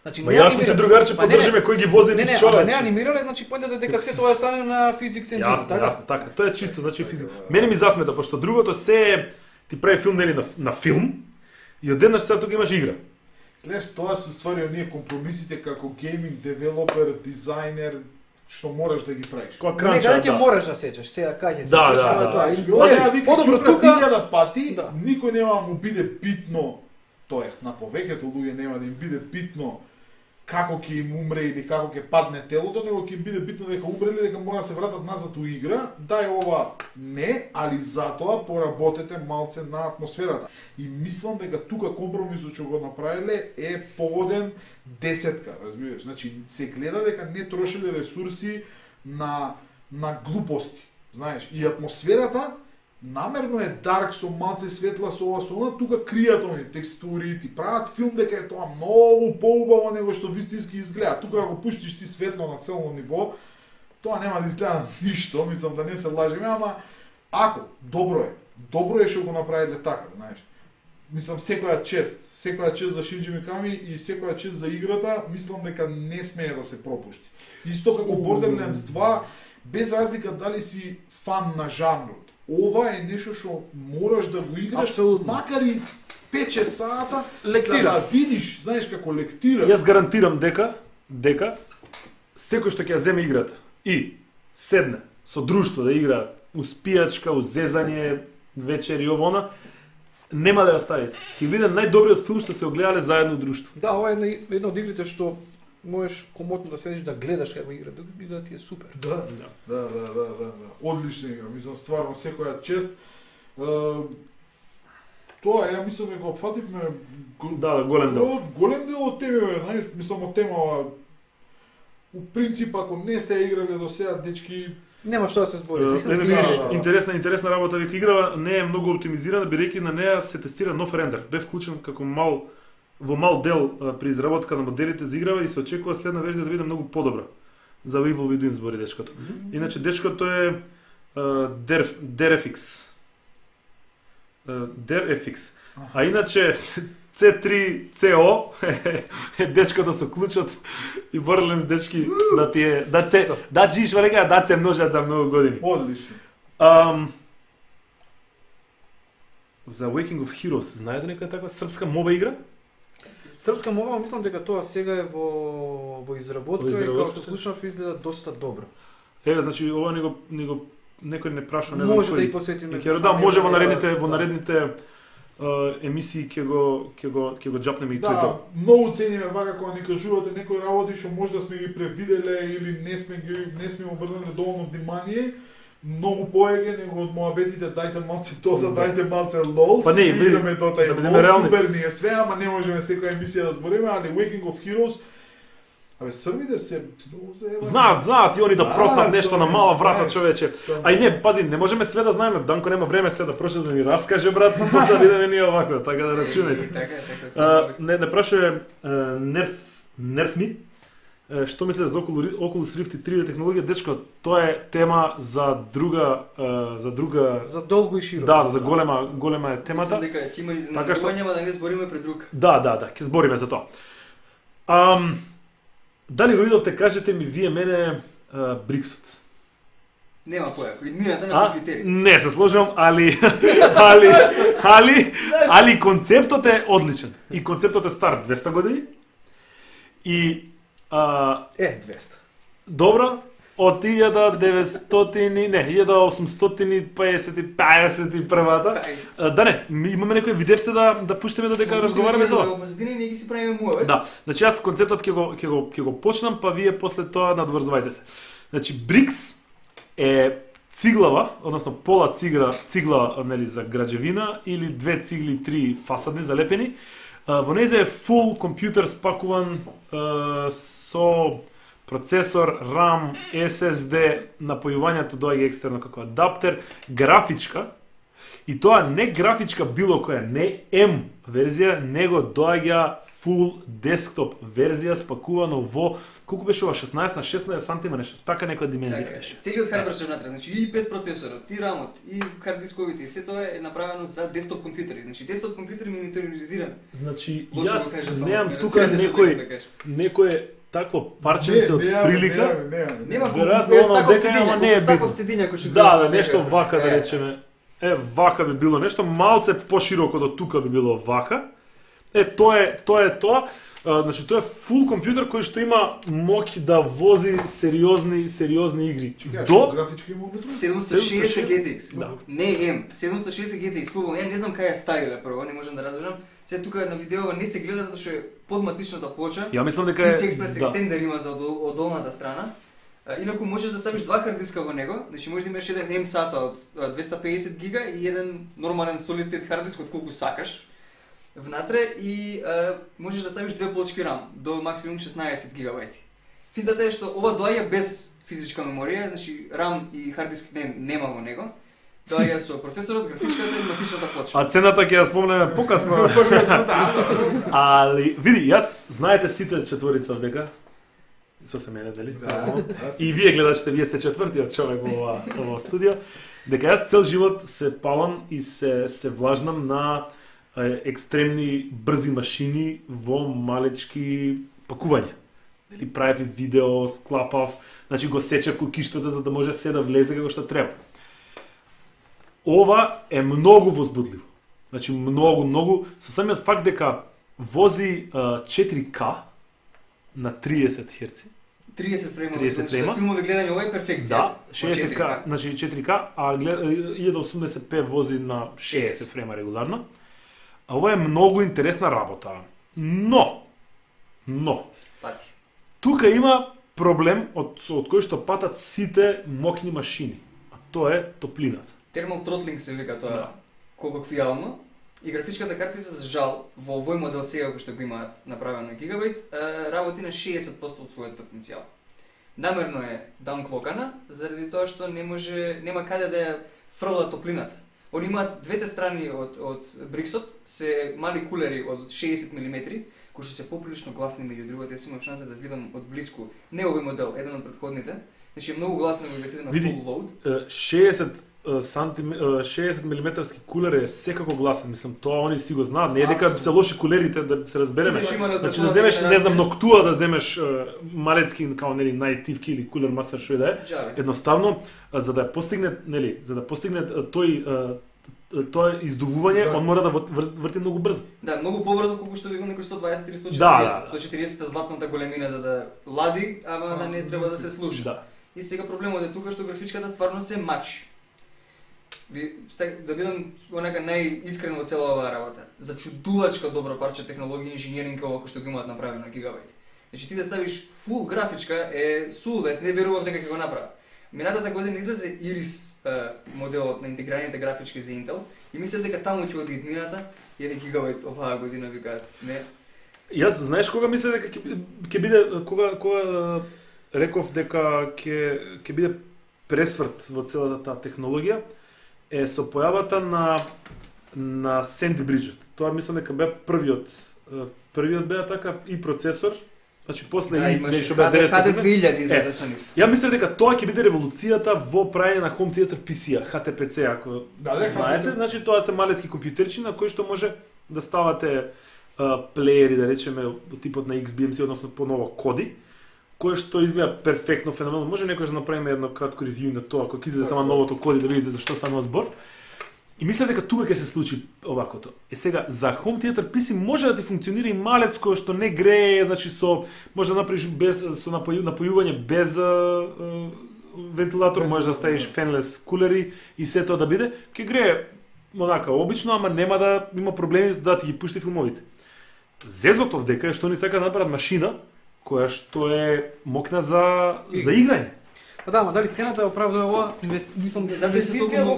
Значи, јас сум ти другарче, поддржиме кој ги вози ни човече. Не анимирале, значи поентата дека се тоа стане на Physics Engine, така? Јасно, така. Тоа е чисто, значи физика. Мене ми засмета, пошто другото се ти прави филм нели на филм и одеднаш сега тука имаш игра. Гледаш, тоа се ствари оние компромисите како гейминг девелопер, дизајнер, што мораш да ги правиш. Која кранча, да. Мораш да сечеш, сега кај ќе сечеш. Да. Подобро тука 1000 пати, никој нема му биде битно, тоест на повеќето луѓе нема да им биде битно како ќе им умре или како ќе падне телото, него ќе им биде битно дека умрели, дека мора да се вратат назад у игра. Дај ова не, али затоа поработете малце на атмосферата. И мислам дека тука компромисот што го направиле е погоден 10, разбираш. Значи се гледа дека не трошеле ресурси на глупости, знаеш, и атмосферата намерно е дарк со малце светла со ова со она, тука кријат оние текстури, ти прават филм дека е тоа многу поубаво него што вистински изгледа. Тука ако пуштиш ти светло на цело ниво, тоа нема да изгледа ништо, мислам да не се лажиме, ама ако добро е што го направиле така, знаеш. Мислам секоја чест за Шинџи Миками и секоја чест за играта, мислам дека не смее да се пропушти. Исто како Borderlands 2, без разлика дали си фан на жанрот. Ова е нешто што мораш да го играш, абсолютно, макар и 5-6 сата, за да видиш, знаеш како лектира. Јас гарантирам дека секој што ќе ја земе играта и седне со друштво да игра успијачка, узезање, вечери овона, нема да ја стави. Ќе биде најдобриот филм што се огледале заедно друштво. Да, ова е една од игрите што можеш комотно да седиш да гледаш како игра, да ти е супер. Да. Одлична игра, мислам стварно секоја чест. Тоа ја мислам дека опфативме голем дел. Голем дел од темиве, знаеш, мислам од темава. У принцип ако не сте играле до сега, дечки, нема што да се збори. Интересна работа, вика играва не е многу оптимизирана, бидејќи на неа се тестира нов рендер. Бе вклучен како во мал дел при изработка на моделите за играва и се очекува следна верзија да биде многу подобра. За Evil Within збори дечкото. Иначе дечкото е DirectX. А иначе C3CO е дечкото со клучот и Borderlands дечки да джиш валека да се множат за многу години. Одлично. За Waking of Heroes, знаете некоја таква српска моба игра? Српска моба, мислам дека тоа сега е во изработка и како што слушнав изгледа доста добро. Еве, значи ова некој не прашува, не знам. Може да и посветиме. Да, може во наредните емисии ќе го џапнеме и тој. Да, многу цениме вака кога ни кажувате некои работи што може да сме ги превиделе или не сме обрнали доволно внимание. Многу поеќе него од моабетите, дајте малце тоа, дајте малце лол, па не, играме тоа и лол, супер ни е све, ама не можеме секоја емисија да збориме, али Waking of Heroes, србите се многу заебани. Знаат и они да пропнат нешто на мала врата, човече. А и не, пази, не можеме све да знаеме, Данко нема време се да прочита да ни раскаже, брат, после да видиме ние овако, така да рачунајте. Не прашува Nerf што мислите за Oculus Rift и 3D технологија, дечко, тоа е тема за друга за долго и широко. Да, за голема е темата. Мислам дека ќе има изненадувања, да не збориме пред друг. Да, ќе збориме за тоа. Дали го видовте, кажете ми вие мене Бриксот? Нема појако, иднината на компјутери. Не се сложувам, али концептот е одличен. И концептот е стар 200 години. И 200. Добро, од 1851-та. Да не, имаме некои видевце да пуштиме додека разговараме за ова. Позадини ние ги си правиме муавет. Да, значи јас концептот ќе го почнам, па вие после тоа надврзувајте се. Значи брикс е циглава, односно пола цигла нели за граđевина или 2 цигли 3 фасадни залепени. Во нејзе е фул компјутер спакуван со процесор, RAM, SSD, напојувањето доаѓа екстерно како адаптер, графичка, и тоа не графичка било која, не M верзија, него доаѓа full desktop верзија спакувано во колку беше ова 16 на 16 сантима нешто, така некоја димензија беше. Целиот хардвер се внатре, значи и 5 процесорот, и рамот, и хард дисковите, и се тоа е направено за десктоп компјутери. Значи десктоп компјутер миниатюризиран. Значи Лошо јас го кажав, немам ама, тука разбирате некој такво парченце од прилика. Нема Веројатно оно дека ама не е таков битно. цедиња кој што Да, нешто вака да речеме. Вака би било нешто малце пошироко до тука би било вака. Тоа е тоа. Значи тоа е фул компјутер кој што има моќ да вози сериозни игри. До графички има внутре? 760 GTX. Да. Не M, 760 GTX. Клубом, ја не знам кај е стајле прво, не можам да разберам. Се тука на видео не се гледа затоа што е подматичната плоча. Ја мислам дека е PCI Express екстендер има за од долната страна. Инаку можеш да ставиш два хард диска во него, значи можеш да имаш еден M SATA од 250 гига и еден нормален solid state хард диск од колку сакаш внатре и можеш да ставиш две плочки RAM до максимум 16 гигабајти. Финтата е што ова доаѓа без физичка меморија, значи RAM и хард диск нема во него. Доаѓа со процесорот, графичката и матичната плоча. А цената ќе ја спомнеме покасно. Али види, јас знаете сите четворица дека со се мене, дали? Да. И вие гледачите, вие сте четвртиот човек во ова студио, дека јас цел живот се палам и се влажнам на екстремни брзи машини во малечки пакувања. Дали правев видео, склапав, значи го сечев кукиштата за да може се да влезе како што треба. Ова е многу возбудливо. Значи многу со самиот факт дека вози 4K на 30 Hz. 30 фреймови, 30 фрейма. За филмови гледање ова е перфекција. Да, 60K, значи 4K, а 1080p вози на 60 фрейма регуларно. А ова е многу интересна работа. Но Пати. тука има проблем од кој што патат сите моќни машини, а тоа е топлината. Thermal throttling се вика тоа Да. колоквијално. И графичката картица за жал во овој модел сега кој што го имаат направено гигабајт, работи на 60% од својот потенцијал. Намерно е даунклокана заради тоа што нема каде да ја фрла топлината. Они имаат двете страни од бриксот се мали кулери од 60 мм, кои што се поприлично гласни меѓу другите. Јас имав шанса да видам од блиску, не овој модел, еден од претходните. Значи е многу гласно го видите на full load. 60 милиметарски кулер е секако гласен, мислам, тоа они си го знаат, не е дека се лоши кулерите да се разбереме. Значи да земеш, не знам, Ноктуа да земеш малецки као нели најтивки или кулер мастер што и да е. Едноставно за да постигне, нели, за да постигне тоа издувување, он мора да врти многу брзо. Да, многу побрзо колку што викам некој 120 140. Да. 140 златната големина за да лади, ама да не треба да се слуша. Да. И сега проблемот е тука што графичката стварно се мачи. Да бидам онака најискрен во цела оваа работа. За чудувачка добро парче технологија и инженеринг ова кој што го имаат направено гигабајт. Значи ти да ставиш фул графичка е сулудес, не верував дека ќе го направат. Минатата година излезе Iris моделот на интегрираните графички за Intel и мислев дека таму ќе оди иднината и е гигабајт оваа година викаат. Не. Јас знаеш кога мислев дека ќе биде кога реков дека ќе биде пресврт во целата таа технологија е со појавата на Sandy Bridget. Тоа мислам дека бе првиот беа така и процесор. Значи после Да, и имаше што беа 2000 излезе со нив. Ја мислам дека тоа ќе биде револуцијата во правење на Home Theater PC-а, HTPC, ако знаете. Значи тоа се малецки компјутерчи на кои што може да ставате плеери, да речеме, од типот на XBMC, односно поново коди, кое што изгледа перфектно, феноменално. Може некој да направиме едно кратко ревју на тоа, кога ќе излезе тама новото коди да видите за што станува збор. И мислам дека тука ќе се случи овакото. Сега за Home Theater PC може да ти функционира и малецко што не грее, значи може да направиш без со напојување без вентилатор, можеш да ставиш фенлес кулери и се тоа да биде, ќе грее онака обично, ама нема да има проблеми да ти ги пушти филмовите. Зезото дека е што ни сака да направат машина која што е мокна за играње. Па да, ама дали цената оправдува ова? Мислам инвестиција во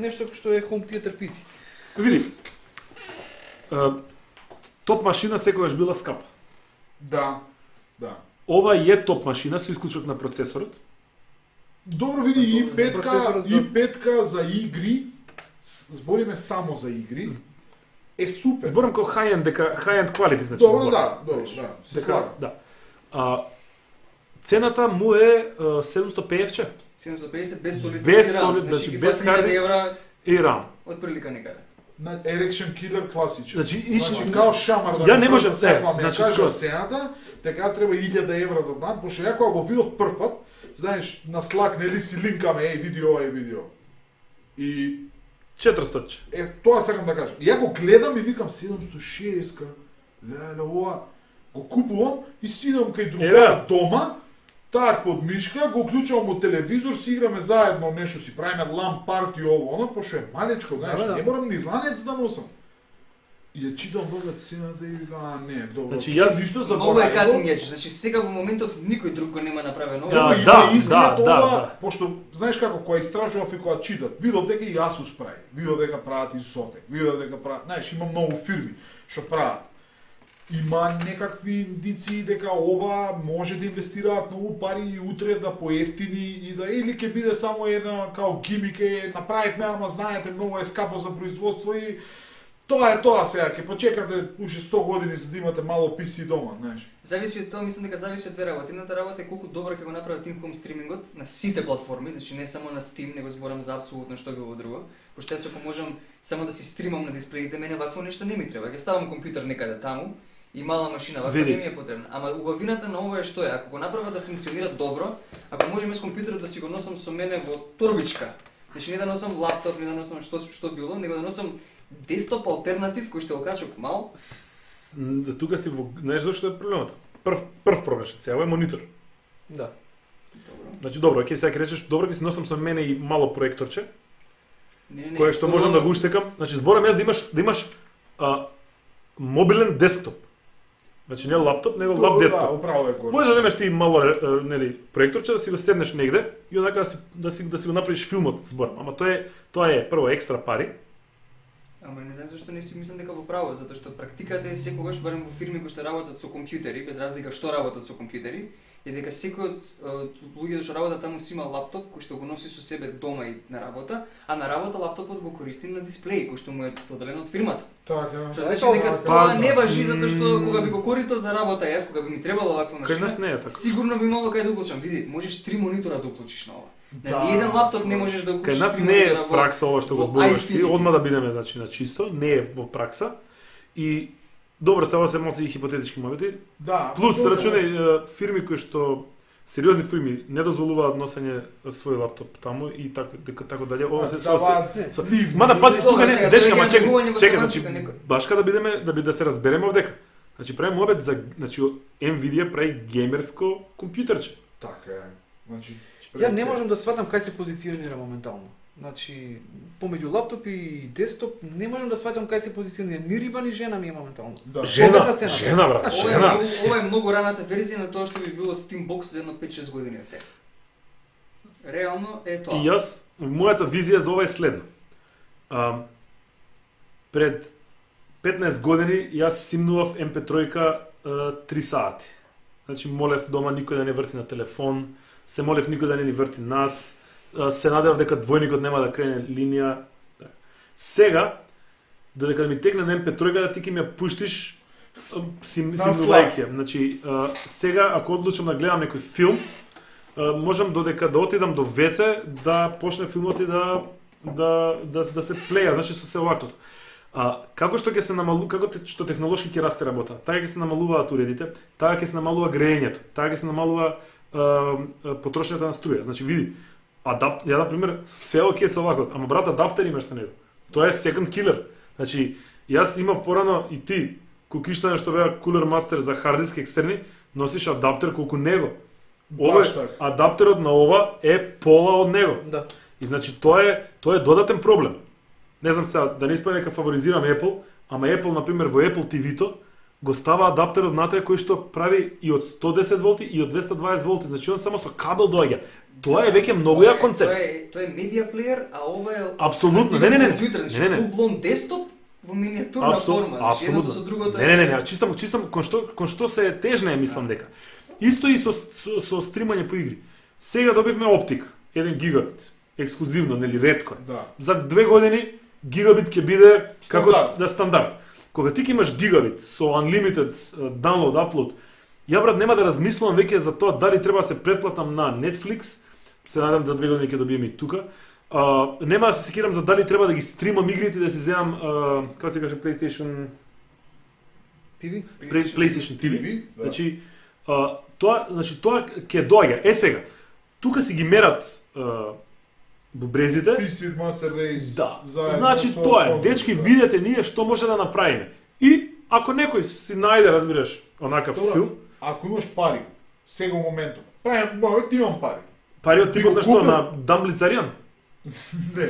нешто што е Home Theater PC. Види. Топ машина секогаш била скапа. Да. ова е топ машина со исклучок на процесорот. Добро види и Добро, за процесорот петка за игри, збориме само за игри, е супер. Зборам како high-end, дека high-end quality, значи. Добро, зборам. да, се слага. Да. Цената му е 750 750 без солистен Без RAM, соли- значи, ги без фати 1000 hard евра и RAM. од прилика некаде. На Erection Killer класичен. Значи, као шамар да ја не го можам, кажам секоја ми значи, кажа скроз. цената, така треба 1000 евра да дам, пошто ја кога го видов прв пат, знаеш, на Slack нели си линкаме, види ова и види ова. И 400. тоа сакам да кажам. И ја го гледам и викам 760-ка, леле, ова, го купувам и сидам кај другар дома, так под мишка, го уклучувам во телевизор, си играме заедно нешто, си правиме LAN парти ово, оно, пошто е малечко, знаеш, Да. не морам ни ранец да носам. И ја читам долга цената и викам, не, добро, Значи, јас ништо Многу е заборавам. cutting edge, значи сега во моментов никој друг го нема направено. Да, Има да, изглед да, ова, да. пошто знаеш како кога истражував и кога читав, видов дека и Asus прави, видов дека прават и Zotac, видов дека прават, знаеш, има многу фирми што прават. Има некакви индиции дека ова може да инвестираат многу пари и утре да поевтини и да или ќе биде само една као гимик е направивме, ама знаете многу е скапо за производство и тоа е тоа сега, ќе почекате уште 100 години за да имате мало PC дома, знаеш. Зависи од тоа, мислам дека зависи од две работи. Едната работа е колку добро ќе го направат in-home стримингот на сите платформи, значи не само на Steam, него зборам за апсолутно што било друго. Пошто јас ако можам само да си стримам на дисплеите, мене вакво нешто не ми треба. Ќе ставам компјутер некаде таму и мала машина, ваква Види. не ми е потребна. Ама убавината на ова е што е, ако го направат да функционира добро, ако можеме с компјутерот да си го носам со мене во торбичка. Значи не да носам лаптоп, не да носам што било, него да носам десктоп алтернатив кој што го качок мал. Тука си во... Знаеш зашто е проблемот? Прв проблем што сега е монитор. Да. Добро. Значи добро, ќе сега ќе речеш, добро ќе си носам со мене и мало проекторче, Не, кое што можам да го уштекам. Значи зборам јас да имаш мобилен десктоп. Значи не лаптоп, него лап Да, десктоп. управо е горе. Може да имаш ти мало нели проекторче да си го седнеш негде и онака да си го направиш филмот, зборам. Ама тоа е прво екстра пари. Ама не знам зашто не си мислам дека во право, затоа што практиката е секогаш барем во фирми кои што работат со компјутери, без разлика што работат со компјутери, е дека секој од луѓето што работат таму си има лаптоп кој што го носи со себе дома и на работа, а на работа лаптопот го користи на дисплеј кој што му е доделен од фирмата. Така. Што значи дека тоа не важи затоа што Мм. кога би го користел за работа јас, кога би ми требала ваква Кај нас машина, не е така. сигурно би имало кај да уклучам. Види, можеш 3 монитора да уклучиш на ова. На Да, ниеден лаптоп не можеш да Кај уклучиш нас 3 не е монитора во пракса ова што го во зборуваш ти, iFinity. одма да бидеме значи на чисто, не е во пракса. И добро, сега се малку хипотетички моменти. Да. Плюс добро. рачунај фирми кои што сериозни фирми не дозволуваат носење свој лаптоп таму и така дале. Ова се Даваат ливни. Мада пази Добро, тука не сега, дечка, тоа е ма чекај, тргување во чекај, значи семантика, некој. баш кога да се разбереме овдека. Значи правиме обед за значи Nvidia прави геймерско компјутерче. Така е. Значи Ја не можам да сватам кај се позиционира моментално. Значи, помеѓу лаптоп и десктоп, не можам да сватам кај се позиционира. Ни риба, ни жена ми е моментално. Да. Жена, цена. жена брат, жена. Ова е многу раната верзија на тоа што би било Steambox за едно 5-6 години од сега. Реално е тоа. И јас, мојата визија за ова е следна. Пред 15 години јас симнував MP3 3 сати. Значи молев дома никој да не врти на телефон, се молев никој да не ни врти нас, се надевав дека двојникот нема да крене линија. Сега, додека да ми текне на MP3 да ти ќе ми ја пуштиш симнувајќи. Значи, сега ако одлучам да гледам некој филм, можам додека да отидам до ВЦ да почне филмот и да се плеја, значи со се оваквото. Како што ќе се како што технолошки ќе расте работа, така ќе се намалуваат уредите, така ќе се намалува грејењето, така ќе се намалува потрошњата на струја. Значи види, ја на пример се оке со оваквото, ама брат адаптер имаш со него. Тоа е second killer. Значи јас имав порано и ти кукиштане што беа Cooler Master за hard disk екстерни, носиш адаптер колку него. Ова Баш така. адаптерот на ова е пола од него. Да. И значи тоа е додатен проблем. Не знам сега да не испадне дека фаворизирам Apple, ама Apple на пример во Apple TV-то го става адаптерот внатре кој што прави и од 110 волти и од 220 волти, значи он само со кабел доаѓа. Тоа е веќе многу ја концепт. Тоа е медиа плеер, а ова е Апсолутно. Не. компјутер, значи Не. full blown десктоп во миниатурна форма, значи едното со другото. Не, чистам кон што се тежна е мислам дека. Исто и со стримање по игри. Сега добивме оптика, 1 гигабит, ексклузивно, нели ретко. Да. За 2 години гигабит ќе биде како Стандард. стандард. Кога ти ќе имаш гигабит со unlimited download, upload, ја брат нема да размислувам веќе за тоа дали треба да се претплатам на Netflix, се надам за 2 години ќе добием и тука. Нема да се секирам за дали треба да ги стримам игрите, да си земам, како се каже, PlayStation TV? PlayStation TV. Да. Значи, тоа ќе доаѓа. Сега, тука си ги мерат бубрезите. Speed Master Race. Да. заедно Значи со тоа е. конзолите. Дечки, видете ние што може да направиме. И ако некој си најде, разбираш, онакав Добро. филм, Ако имаш пари, сега во моментов, правим, имам пари. пари од типот го на што, купил? на Дамблицаријан. Не,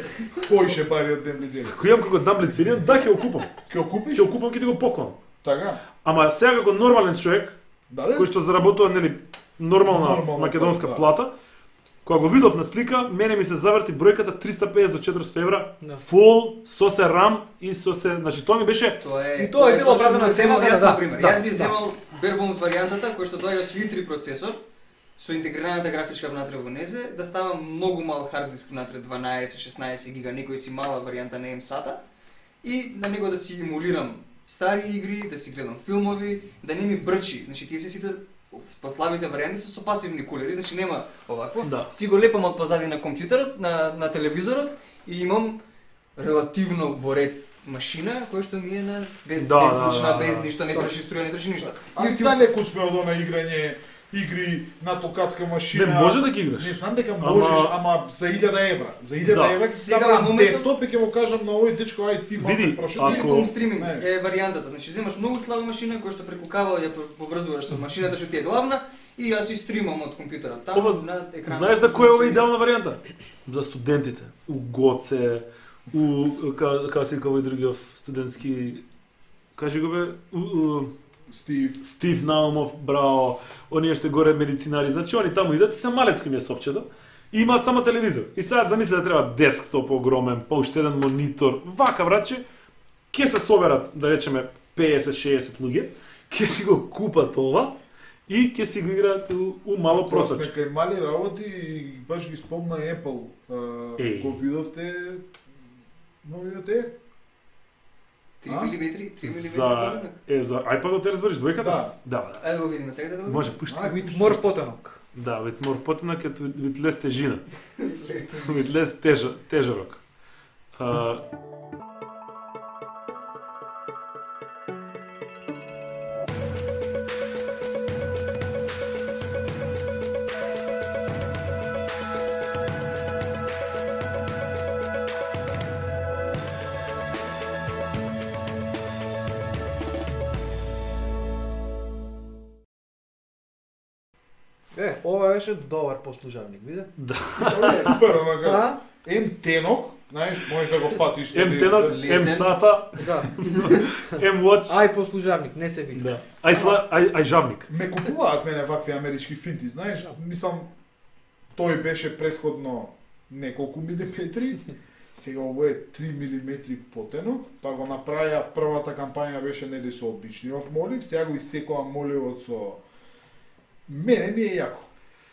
поише пари од Демблизери. Кој имам како Дамблицаријан, да ќе го купам. Ќе го купиш? Ќе го купам, ќе ти го поклонам. Така? Ама сега како нормален човек, Да, кој што заработува нели нормална Нормална македонска плата, да. плата, кога го видов на слика, мене ми се заврти бројката 350 до 400 евра, Да. фул, со се RAM и со се, значи тоа ми беше И тоа е било оправдана цена за јас да, на пример. да, Јас би да. земал bare bones варијантата која што доаѓа со i3 процесор, со интегрираната графичка внатре во незе, да става многу мал хард диск внатре, 12-16 гига, некој си мала варијанта на M-SATA, и на него да си емулирам стари игри, да си гледам филмови, да не ми брчи. Значи тие се сите послабите варијанти се со пасивни кулери, значи нема овакво. Да. Си го лепам од позади на компјутерот, на телевизорот и имам релативно во ред машина која што ми е на без Да, беззвучна, да, да, без да. ништо, не троши струја, не троши ништо. А далеку сме од она играње игри на токатска машина. Не може да ги играш. Не знам дека можеш, ама за 1000 евра. За 1000 Да. евра Сега сега во моментот- десктоп и ќе му кажам на овој дечко ај ти Види, малце прошо. ако- Telecom стриминг Знаеш. е варијантата. Значи земаш многу слаба машина која што преку кабел ја поврзуваш со машината што ти е главна и јас и стримам од компјутерот таму Ова, на екранот. знаеш за која е ова идеална варијанта? За студентите. У Гоце, како се вика овој другиот студентски, кажи го бе, Стив Наумов, браво, оние што горе медицинари, значи они таму идат и се малецки ми е сопчето и имаат само телевизор. И сега замисли да треба десктоп огромен, па уште еден монитор, вака братче, ќе се соберат, да речеме 50-60 луѓе, ќе си го купат ова и ќе си го играат у мало просаче. Кај мали работи и баш ги спомна Apple. Еј. Го видовте новиот е? 3 мм, 3 мм. За iPad-от те разбереш двојката? Да. Да. Ајде го видиме сега да го. Може, пушти. Ај, With more потенок. Да, with more потенок and with less тежина. With less тежорок. Ова беше добар послужавник, виде? Тоа е супер, онака. А? М-тенок, знаеш, можеш да го фатиш. M-тенок, лесен. M-сата, Да. M-watch. Ај послужавник, не се види. Да. Ај жавник. Ме купуваат мене вакви амерички финти, знаеш, мислам, тој беше предходно неколку милиметри, сега ово е 3 милиметри потенок, па го направија првата кампања беше нели со обичниот молив, сега го исекува моливот со... Мене ми е јако.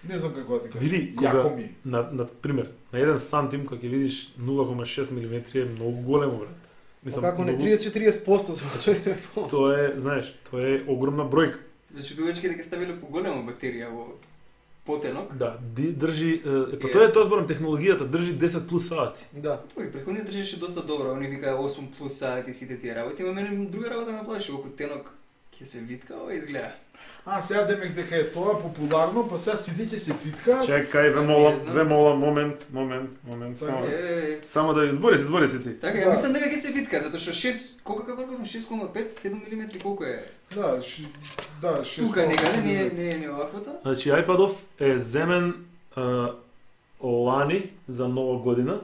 Не знам како да ти кажам. Види, јако кога, ми. на пример, на 1 сантим, кога ќе видиш 0,6 мм е многу големо, брат. Мислам, како не 30-40% звучи. Тоа е, знаеш, тоа е огромна бројка. Зачудувачки дека ставиле поголема батерија во потенок. Да, држи, па тоа е тоа зборам, технологијата држи 10 плюс сати. Да. Добри, претходниот држеше доста добро, они викаа 8 плюс сати сите тие работи, ама мене друга работа ме плаши, околу тенок ќе се витка, ова изгледа. А, сега демек дека е тоа популарно, па сега сите ќе се фитка. Чекај, ве молам, момент, само. Само да избори се ти. Така, Да. ја мислам дека ќе се витка, затоа што 6, колку 6,5, 7 мм колку е? Да, да, Тука некаде не оваквото. Значи iPad-ов е земен лани за нова година.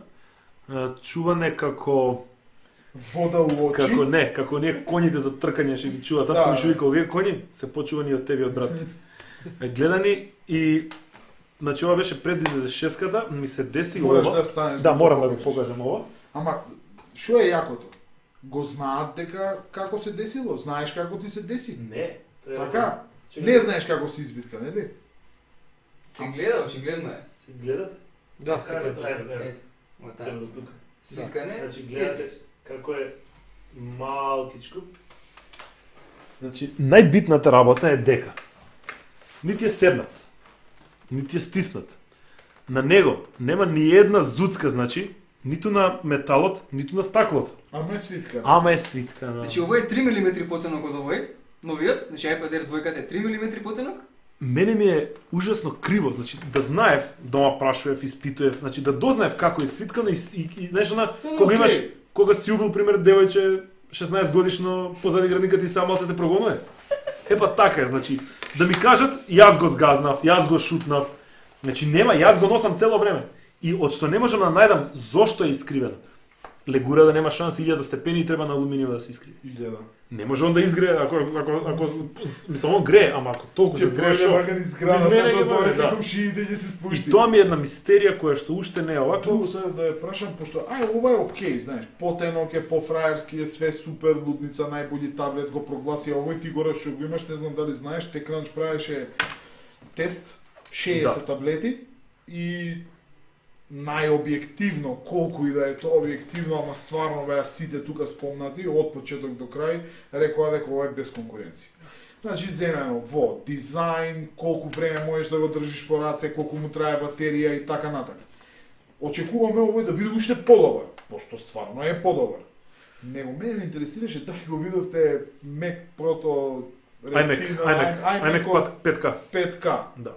Чуване како вода у очи. како ние коњите за тркање што ги чува. Татко Да. ми што вика, овие коњи се почувани од тебе од брат. Гледани и значи ова беше пред 96-ката, ми се деси Мораш ова. да станеш. Да, морам да го покажеш. покажам ова. Ама што е јакото? Го знаат дека како се десило, знаеш како ти се деси. Не. Така, Не знаеш како се избитка, нели? Се гледа, очигледно е. Се гледате? Да, се гледа. Ето, ма таа. Ето тука. Свиткане. Значи гледате како е малкичко. Значи најбитната работа е дека нити е седнат, нити е стиснат. На него нема ни една зуцка, значи, ниту на металот, ниту на стаклото. Ама е свитка. Ама е свитка. Да. Значи овој е 3 мм потенок од овој, новиот, значи iPad Air 2 е 3 мм потенок. Мене ми е ужасно криво, значи да знаев, дома прашував, испитував, значи да дознаев како е свиткано и знаеш она, кога имаш, кога си убил пример девојче 16 годишно позади градниката и само се те прогонува. Епа така е, значи да ми кажат јас го згазнав, јас го шутнав. Значи нема, јас го носам цело време. И од што не можам да најдам зошто е искривено. Легура да нема шанси 1000 степени и треба на алуминиум да се искриви. 1000. Не може он да изгрее, ако мислам он грее, ама ако толку се згрее шо. Вака низ градата до тоа како шиите ќе се спушти. И тоа ми е една мистерија која што уште не е овако. Другу се да ја прашам, пошто ова е окей, знаеш, потенок е, пофраерски е, све супер, лудница, најбољи таблет го прогласи, а овој ти горе што го имаш, не знам дали знаеш, TechCrunch правеше тест, 60 таблети и најобјективно, колку и да е тоа објективно, ама стварно беа сите тука спомнати, од почеток до крај, рекоа дека ова е без конкуренција. Значи, земено во дизајн, колку време можеш да го држиш по раце, колку му трае батерија и така натака. Очекуваме овој да биде уште подобар, пошто стварно е подобар. Него мене ме интересираше дали го видовте Mac Proto iMac 5K. 5K. Да.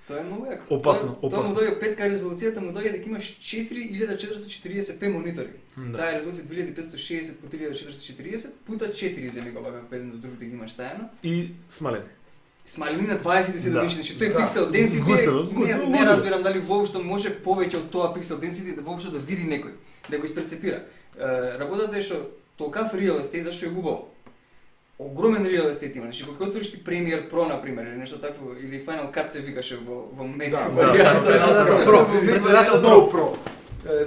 Тоа е многу јако. Опасно. Тоа му доаѓа 5K резолуцијата, му доаѓа дека имаш 4440p монитори. Таа е резолуција 2560 по 1440 пута 4 земи го бага еден до друг да ги имаш стајано. И смалени. Смалени на 27 инчи, значи тој пиксел density не разбирам дали воопшто може повеќе од тоа пиксел density да воопшто да види некој, да го испрецепира. Работата е што толкав real estate зашто е убаво. Огромен real estate има, значи кога отвориш ти Premiere Pro на пример или нешто такво или Final Cut се викаше во Mac. Председател Pro.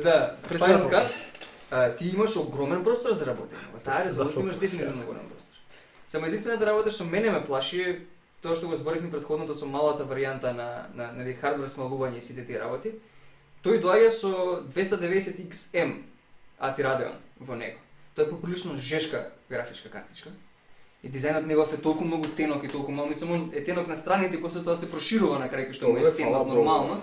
Да, Final Cut. Ти имаш огромен простор за работење. Во таа резолуција имаш дефинитивно голем простор. Само единствената работа што мене ме плаши е тоа што го зборевме претходното со малата варијанта на нели хардвер смалување и сите тие работи. Тој доаѓа со 290XM AT Radeon во него. Тоа е поприлично жешка графичка картичка. И дизајнот негов е толку многу тенок и толку мал, мислам е тенок на страните и после тоа се проширува на крај што му е стендап нормално.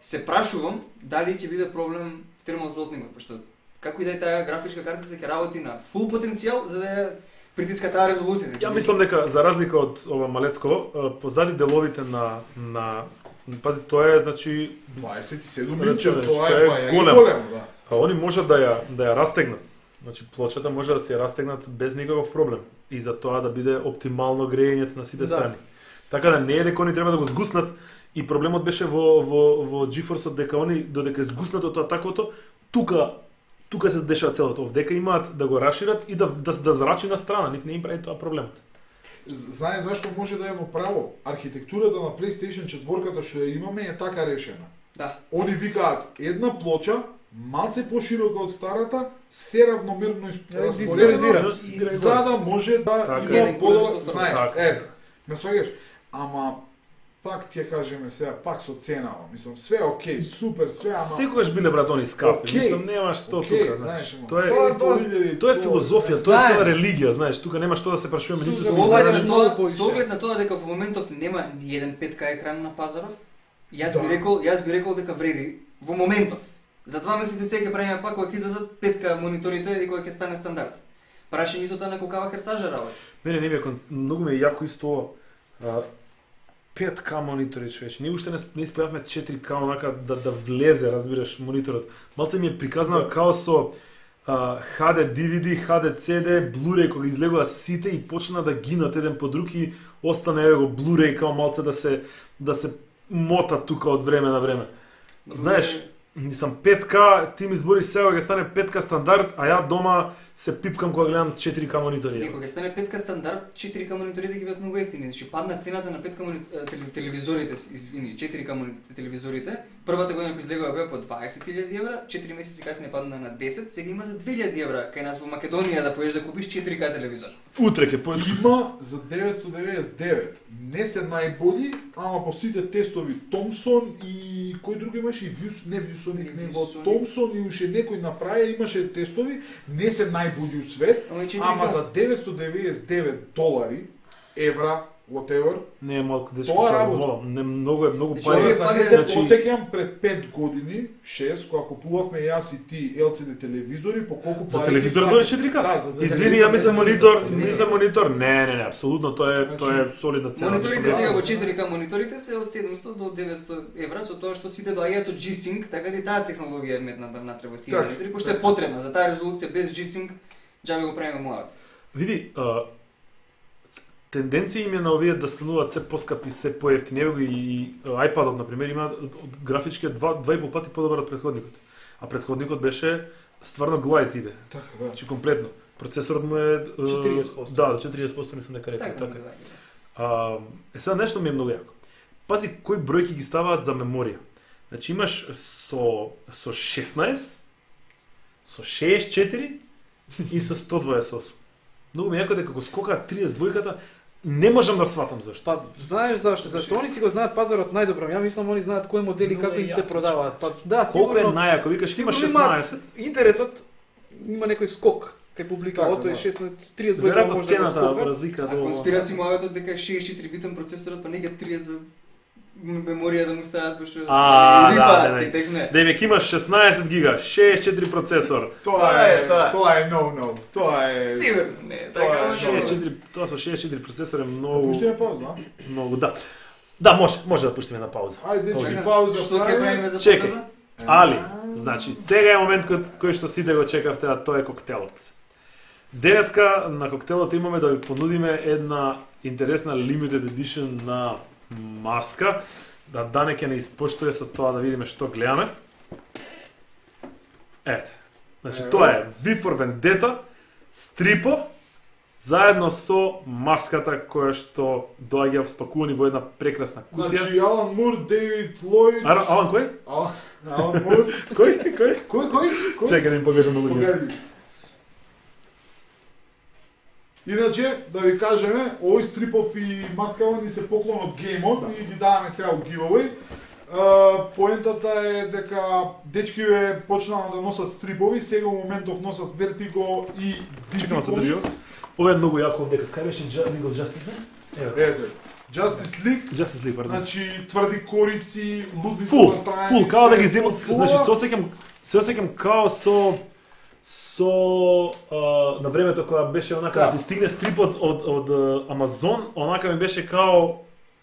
Се прашувам дали ќе биде проблем термотлотникот, пошто како и да е таа графичка картица ќе работи на фул потенцијал за да ја притиска таа резолуција. Ја мислам дека за разлика од ова малецко, позади деловите на пази тоа е значи 27 инчи, тоа е голем. Да. А они можат да ја растегнат. Значи плочата може да се ја растегнат без никаков проблем и за тоа да биде оптимално грејењето на сите страни. Така да не е дека они треба да го згуснат и проблемот беше во GeForce-от дека они додека е згуснато тоа таквото, тука се дешава целото. Овдека имаат да го расшират и да зрачи на страна, нив не им прави тоа проблемот. Знае зашто може да е во право. Архитектурата на PlayStation 4-ката што ја имаме е така решена. Да. Они викаат една плоча малце поширока од старата, се равномерно распоредена, за да може да има подобар, знаеш, ме сваѓаш, ама пак ќе кажеме сега, пак со ценава, мислам, све окей, супер, све, ама... Секогаш биле брат они скапи, мислам, нема што тука, знаеш. Тоа е филозофија, тоа е цела религија, знаеш, тука нема што да се прашуваме ниту со оглед на тоа дека во моментов нема ни еден 5K екран на пазаров, јас би рекол дека вреди во моментов. За 2 месеци сега ќе правиме пак кога ќе излезат 5K мониторите и кога ќе стане стандард. Прашање исто тоа на колкава херцажа работи. Не ми е многу ми е јако исто 5K монитори, човече. Ние уште не исправивме 4K онака да влезе, разбираш, мониторот. Малце ми е приказнава као со HD DVD, HD CD, Blu-ray кога излегува сите и почна да гинат еден по друг и остане еве го Blu-ray као малце да се мота тука од време на време. Знаеш, Мислам 5K, ти ми збориш сега ќе стане 5K стандард, а ја дома се пипкам кога гледам 4K монитори. Некој ќе стане 5K стандард, 4K мониторите ќе бидат многу ефтини, значи падна цената на 5K телевизорите, извини, 4K телевизорите. Првата година кој излегува беа по 20.000 евра, 4 месеци касниер падна на 10, сега има за 2.000 евра кај нас во Македонија да поеш да купиш 4K телевизор. Утре ќе појдеш. Има за 999. Не се најбољи, ама по сите тестови Томсон и кој друг имаше и не Viewsonic, него Томсон и уште некој направи, имаше тестови, не се најбољи у свет, ама за 999 долари, евра, whatever. Не е малку дечко. Тоа работа. Не многу Тоа пари. значи, осеќам пред 5 години, 6, кога купувавме јас и ти LCD телевизори, по колку За пари. телевизор дое 4K? Да, за Извини, ја мислам монитор. Не, апсолутно тоа е солидна цена. Мониторите сега во 4K мониторите се од 700 до 900 евра, со тоа што сите доаѓаат со G-Sync, така и таа технологија е метната внатре во тие монитори, пошто е потребна за таа резолуција без G-Sync, џабе го правиме мојот. Види, тенденција им е на овие да стануваат се поскапи, се поевтини. Ево и iPad-от, например, има графички 2,5 пати подобар од претходникот. А претходникот беше стварно глајт иде. Така, да. Значи комплетно. Процесорот му е 40%. Да, 40% мислам дека рекол, така. Сега нешто ми е многу јако. Пази кои бројки ги ставаат за меморија. Значи имаш со 16, со 64 и со 128. Многу ми е јако дека го скокаат 32-ката, не можам да сватам зашто. Па, знаеш зашто? Зашто они си го знаат пазарот најдобро. Ја мислам они знаат кои модели како им се продаваат. Па да, Колку е сигурно. најако, викаш има Сигурно имаат 16. Интересот има некој скок кај публика, Така, ото е да. 16 32 Веројатно може да го цената скокат. разлика А до конспираси мојот дека 64 битен процесорот, па не ги 30 меморија да му стават пошто да, ти текне. Да веќе имаш 16 гига, 64 процесор. Тоа е no. Тоа е Сигурно не, Тоа така. е 64, тоа со 64 процесор е многу Пуштиме пауза. многу да. Да, може да пуштиме на пауза. Ајде, Пауза. чекај пауза. Што ќе правиме за Чекај. потреба? Али, значи, сега е момент кој што сите го чекавте, а тоа е коктелот. Денеска на коктелот имаме да ви понудиме една интересна limited edition на маска. Да Дане ќе не испоштуе со тоа да видиме што гледаме. Ете. Значи, тоа е V for Vendetta, стрипо, заедно со маската која што доаѓа спакувани во една прекрасна кутија. Значи, Алан Мур, Дейвид Лојд... Алан кој? Алан Мур... Кој? Чекај да им покажам на луѓето. Погледи. Иначе, да ви кажеме, овој стрипов и маскава ни се поклон од геймот и ги даваме сега у giveaway. Поентата е дека дечкиве почнаа да носат стрипови, сега во моментов носат Vertigo и DC Чекам да се држи. Comics. Ова е многу јако дека кај беше Legal Justice, не? Ево. Ете, Justice League, Justice League, пардон. значи тврди корици, лудници Фул, као да ги земам, значи се осеќам као со на времето кога беше онака да ти стигне стрипот од Амазон, онака ми беше као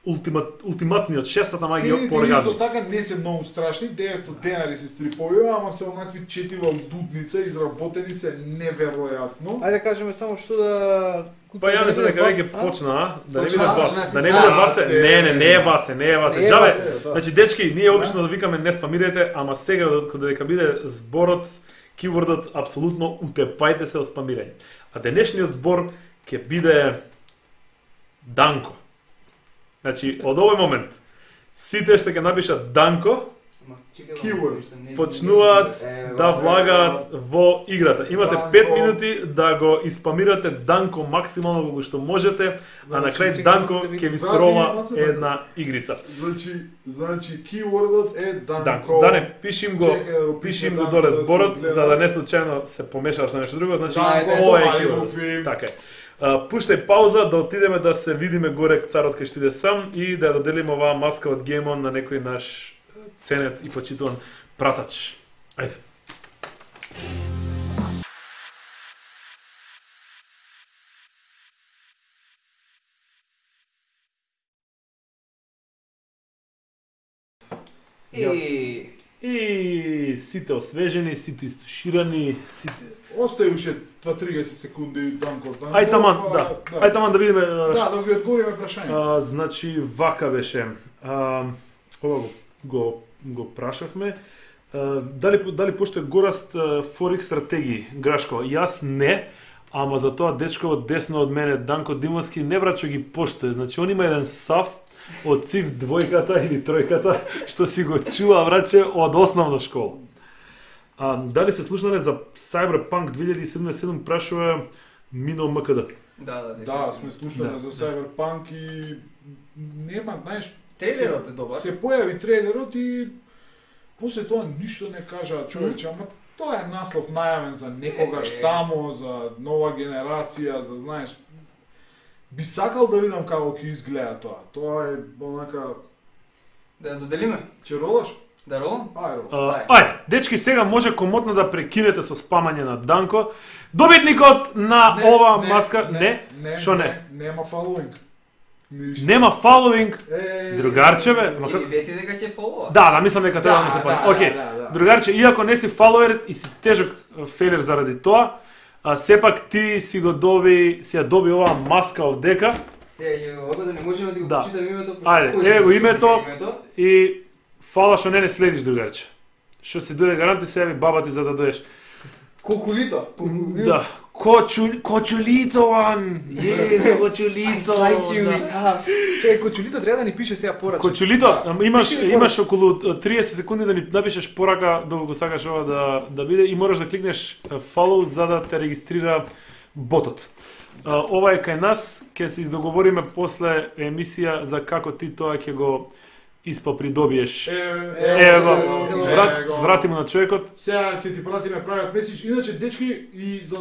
ултиматниот, шестата магија по Цените оргазм. исто така не се многу страшни, 900 денари се стрипови, ама се онакви четива лудница, изработени се неверојатно. Ајде да кажеме само што да Па ја мислам дека веќе почна, да не биде вас, почна, да не биде Васе, се, не е Васе. Не е Џабе, Васе, да. значи дечки, ние обично да викаме не спамирайте, ама сега дека биде зборот, кивордот апсолутно утепајте се од спамирање. А денешниот збор ќе биде Данко. Значи, од овој момент, сите што ќе напишат Данко, Keyword. почнуваат да влагаат во играта. Имате 5 минути да го испамирате Данко максимално во што можете, а на крај Данко ќе ви срова една игрица. Значи keywordот е Данко. Данко. Да не пишим го доле зборот за да не случајно се помешава со нешто друго, значи ова е keyword. Така е. Пуштај пауза да отидеме да се видиме горе царот кај што иде сам и да ја доделиме оваа маска од Геймон на некој наш ценет и почитуван пратач. Ајде. И сите освежени, сите истуширани, сите... Остај уште 30 секунди Данко. Ај таман, да. Ај таман да видиме... Да, да ги одговориме прашање. Значи, вака беше. Ова го прашавме. Дали постои гораст Форекс стратегии, Грашко? Јас не, ама за тоа дечко од десно од мене, Данко Димовски, не врачо ги поштои. Значи, он има еден сав од циф двојката или тројката, што си го чува, враче, од основна школа. Дали се слушнале за Cyberpunk 2077, прашува Мино МКД. Да, сме слушнале за Cyberpunk и нема, знаеш, трейлерот е добар. Се појави трейлерот и после тоа ништо не кажа човече, ама тоа е наслов најавен за некогаш тамо, за нова генерација, за знаеш. Би сакал да видам како ќе изгледа тоа. Тоа е онака. Да доделиме. Ќе ролаш? Да ролам? Ајде, дечки, сега може комотно да прекинете со спамање на Данко. Добитникот на ова маска... Не? Шо не? Нема фоловинг. Нема фоловинг, другарчеве. Ќе вети дека ќе фолова? Да, мислам дека треба да ми се пали. Океј, другарче, иако не си фоловер и си тежок фейлер заради тоа, сепак ти си ја доби оваа маска овдека. Сега овако да не можеме да го прочитаме името, Ајде, еве го името и фала што не следиш, другарче. Што си дојде гаранти се јави баба ти за да доеш. Кокулито. Да. Кочулито, ван! Јес, кочулито! Чекај, кочулито треба да ни пише сега порака. Кочулито, имаш околу 30 секунди да ни напишеш порака доколку го сакаш ова да биде и мораш да кликнеш follow за да те регистрира ботот. Ова е кај нас, ќе се издоговориме после емисија за како ти тоа ќе го придобиеш. Вратимо на човекот. Сега ќе ти пратиме правиот меседж. Иначе, дечки, и за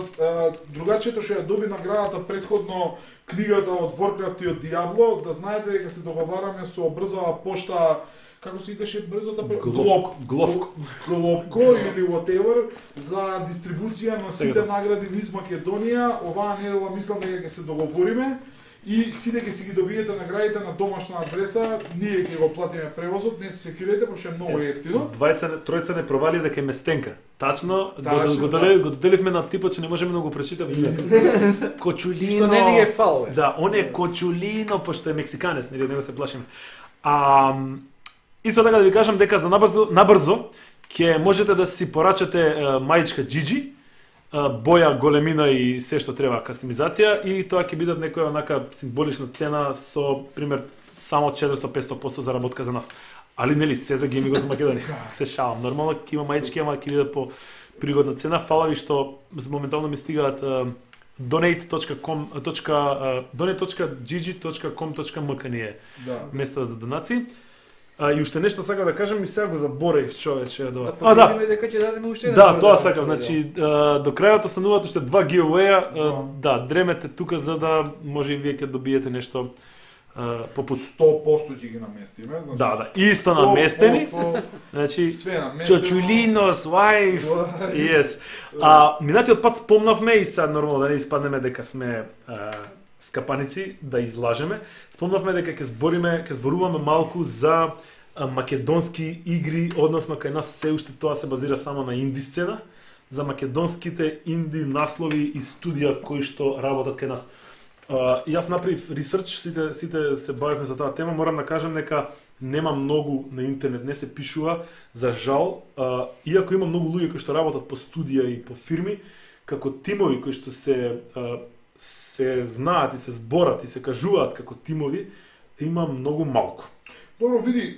другарчето што ја доби наградата предходно книгата од Warcraft и од Diablo, да знаете дека се договараме со брзава пошта, како се викаше брзата Гловко или whatever, за дистрибуција на сите награди низ Македонија. Оваа недела мислам дека ќе се договориме. И сите ќе си ги добиете наградите на домашна адреса, ние ќе го платиме превозот, не се секирете, пошто е многу ефтино. Тројца не провали дека е местенка. Тачно, го доделивме на типот, че не можеме да го прочитаме името. Кочулино. Што не ни е фало. Да, он е Кочулино, пошто е мексиканец, нели него се плашиме. Исто така да ви кажам дека за набрзо ќе можете да си порачате мајчка Джиджи, боја, големина и се што треба кастомизација и тоа ќе бидат некоја онака символична цена со пример само 400-500% заработка за нас. Али нели се за геймингот во Македонија. Се шалам. Нормално ќе има мајчки, ама ќе бидат по пригодна цена. Фала ви што моментално ми стигаат donate.gg.com.mk ни е место за донации. И уште нешто сакам да кажам и сега го заборев, човече. Да потврдиме дека ќе дадеме уште еден. Да, тоа сакам. Значи до крајот остануваат уште 2 giveaway-а. Да, дремете тука за да може и вие ќе добиете нешто попут 100% ќе ги наместиме, значи. Да, исто наместени. Значи Чочулинос, wife. Yes. Минатиот пат спомнавме и сега нормално да не испаднеме дека сме скапаници да излажеме. Спомнавме дека ќе зборуваме малку за македонски игри, односно кај нас се уште тоа се базира само на инди сцена, за македонските инди наслови и студија кои што работат кај нас. Јас направив ресерч, сите се бавевме за таа тема, морам да кажам дека нема многу на интернет, не се пишува, за жал, иако има многу луѓе кои што работат по студија и по фирми, како тимови кои што се знаат и се зборат и се кажуваат како тимови, има многу малку. Добро, види,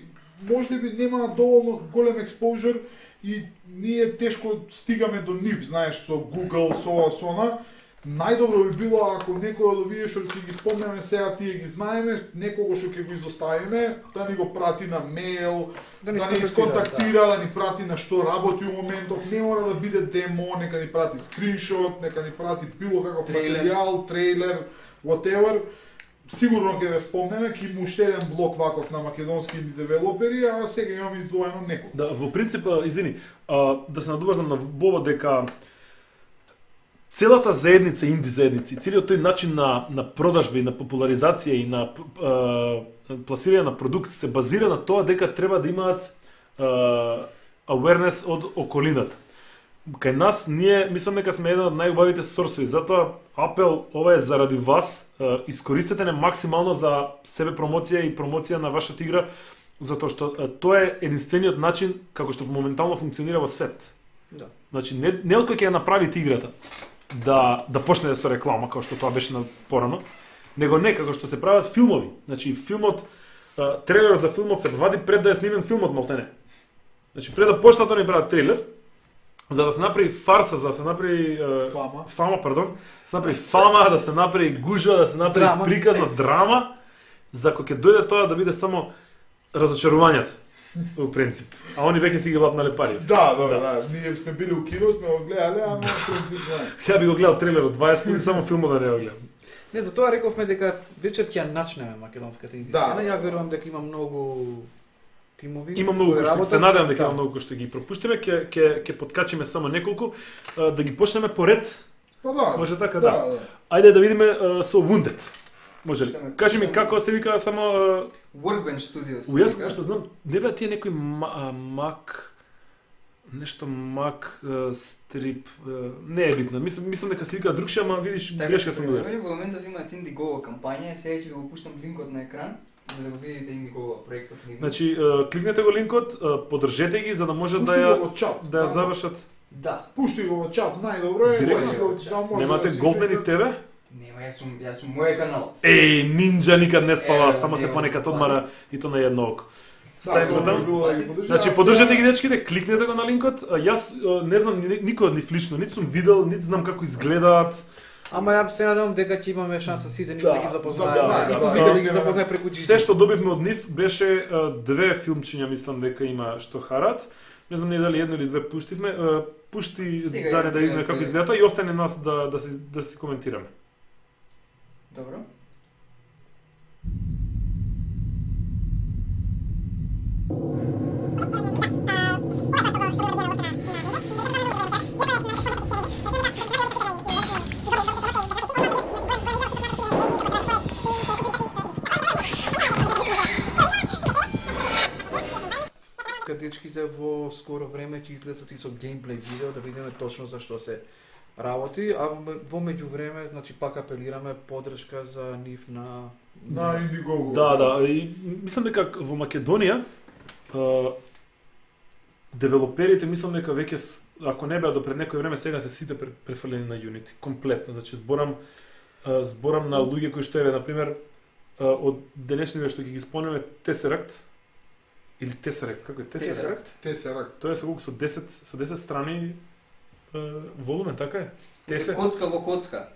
може би нема доволно голем експозор и ние тешко стигаме до нив, знаеш, со Google, со она. Најдобро би било ако некој од овие што ќе ги спомнеме сега, тие ги знаеме, некого што ќе го изоставиме, да ни го прати на мејл, да ни сконтактира, да ни прати на што работи у моментов, не мора да биде демо, нека ни прати скриншот, нека ни прати било каков материјал, трейлер, whatever. Сигурно ќе ве спомнеме, ќе има уште еден блок ваков на македонски инди девелопери, а сега имаме издвоено неколку. Да, во принцип, извини, да се надуврзам на Бово дека целата заедница, инди заедници, целиот тој начин на продажба и на популаризација и на пласирање на продукт се базира на тоа дека треба да имаат awareness од околината. Кај нас ние мислам дека сме еден од најубавите сорсови, затоа апел ова е заради вас, искористете не максимално за себе промоција и промоција на вашата игра Затоа што тоа е единствениот начин како што моментално функционира во свет. Да. Значи не од кој ќе ја направите играта да почне да се реклама како што тоа беше на порано, него не како што се прават филмови. Значи филмот трейлерот за филмот се вади пред да е снимен филмот, малтене. Значи пред да почнат да ни прават трейлер, за да се направи фарса, за да се направи фама, се направи фама, да се направи гужва, да се направи драма. приказна драма, за кој ќе дојде тоа да биде само разочарувањето. Во принцип. А они веќе си ги лапнале пари. Да. Ние сме били у кино, сме го гледале, ама во принцип Ја би го гледал трейлерот 20 пати, само филмот да не го гледам. Не, затоа рековме дека вечер ќе ја начнеме македонската инди сцена. Ја верувам дека има многу тимови. Има многу кои што се надевам дека има многу кои што ги пропуштиме, ќе подкачиме само неколку да ги почнеме по ред. да. Може така да. Ајде да видиме со Wounded. Може ли? Кажи ми како се вика само Workbench Studios. Јас што знам, не беа тие некои Mac нешто Mac стрип, не е битно. Мислам дека се вика другше, ама видиш грешка сум го јас. Во моментов имаат Indiegogo кампања, сега ќе ви го пуштам линкот на екран за да го видите Indiegogo проектот ни. Значи, кликнете го линкот, поддржете ги за да може да ја завршат. Да. Пушти го во чат, најдобро е. Директно. Немате Goldman и тебе? Нема, јас сум мој канал. Еј, нинџа никад не спава, само се понекад одмара и то на едно око. Стави го таму. Значи, поддржете ги дечките, кликнете го на линкот. Јас не знам никој од нив лично, нит сум видел, нит знам како изгледаат. Ама ја се надевам дека ќе имаме шанса сите да ги запознаеме. Да ги запознае преку джиджи. Се што добивме од нив беше две филмчиња, мислам дека има што харат. Не знам дали едно или две пуштивме. Пушти Дане да видиме како изгледа и остане нас да си коментираме. Добро. Дечките во скоро време ќе излезат и со геймплей видео да видиме точно за што се работи, а во меѓувреме, значи пак апелираме поддршка за нив на Indiegogo. Да, и мислам дека во Македонија девелоперите мислам дека веќе ако не беа до пред некој време сега се сите префрлени на Unity, комплетно. Значи зборам на луѓе кои што еве на пример од денешните што ги спомнеме Tesseract или Tesseract, како е Tesseract. Тоа е со колку со 10 страни волумен, така е? Коцка во коцка.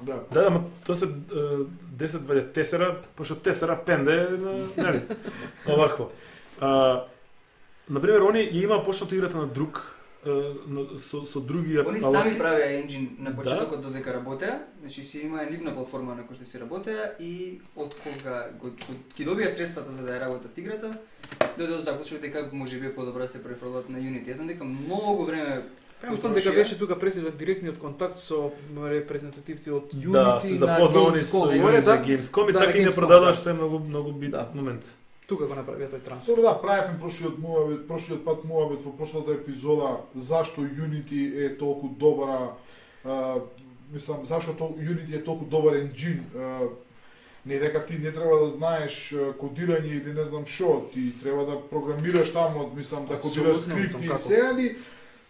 Да, ама тоа се 10 ваѓа тесера, пошто тесера пенде, нели? Овако. Например, они ја има почнато играта на друг со други Они сами правеа енџин на почетокот додека работеа, значи си имаа нивна платформа на која што си работеа и од кога ги добија средствата за да ја работат играта, дојде до заклучок дека можеби подобро да се префрлат на Unity. Јас знам дека многу време мислам дека беше тука пресилен директниот контакт со репрезентативци од Unity да, се запознавани со Gamescom и така не продадоа што е многу битен момент. Тука го направија тој трансфер. Да, правевме прошлиот пат муавет во прошлата епизода зашто Unity е толку добра, мислам зашто Unity е толку добар енџин. Не дека ти не треба да знаеш кодирање или не знам што, ти треба да програмираш таму, мислам да кодираш скрипти и се, али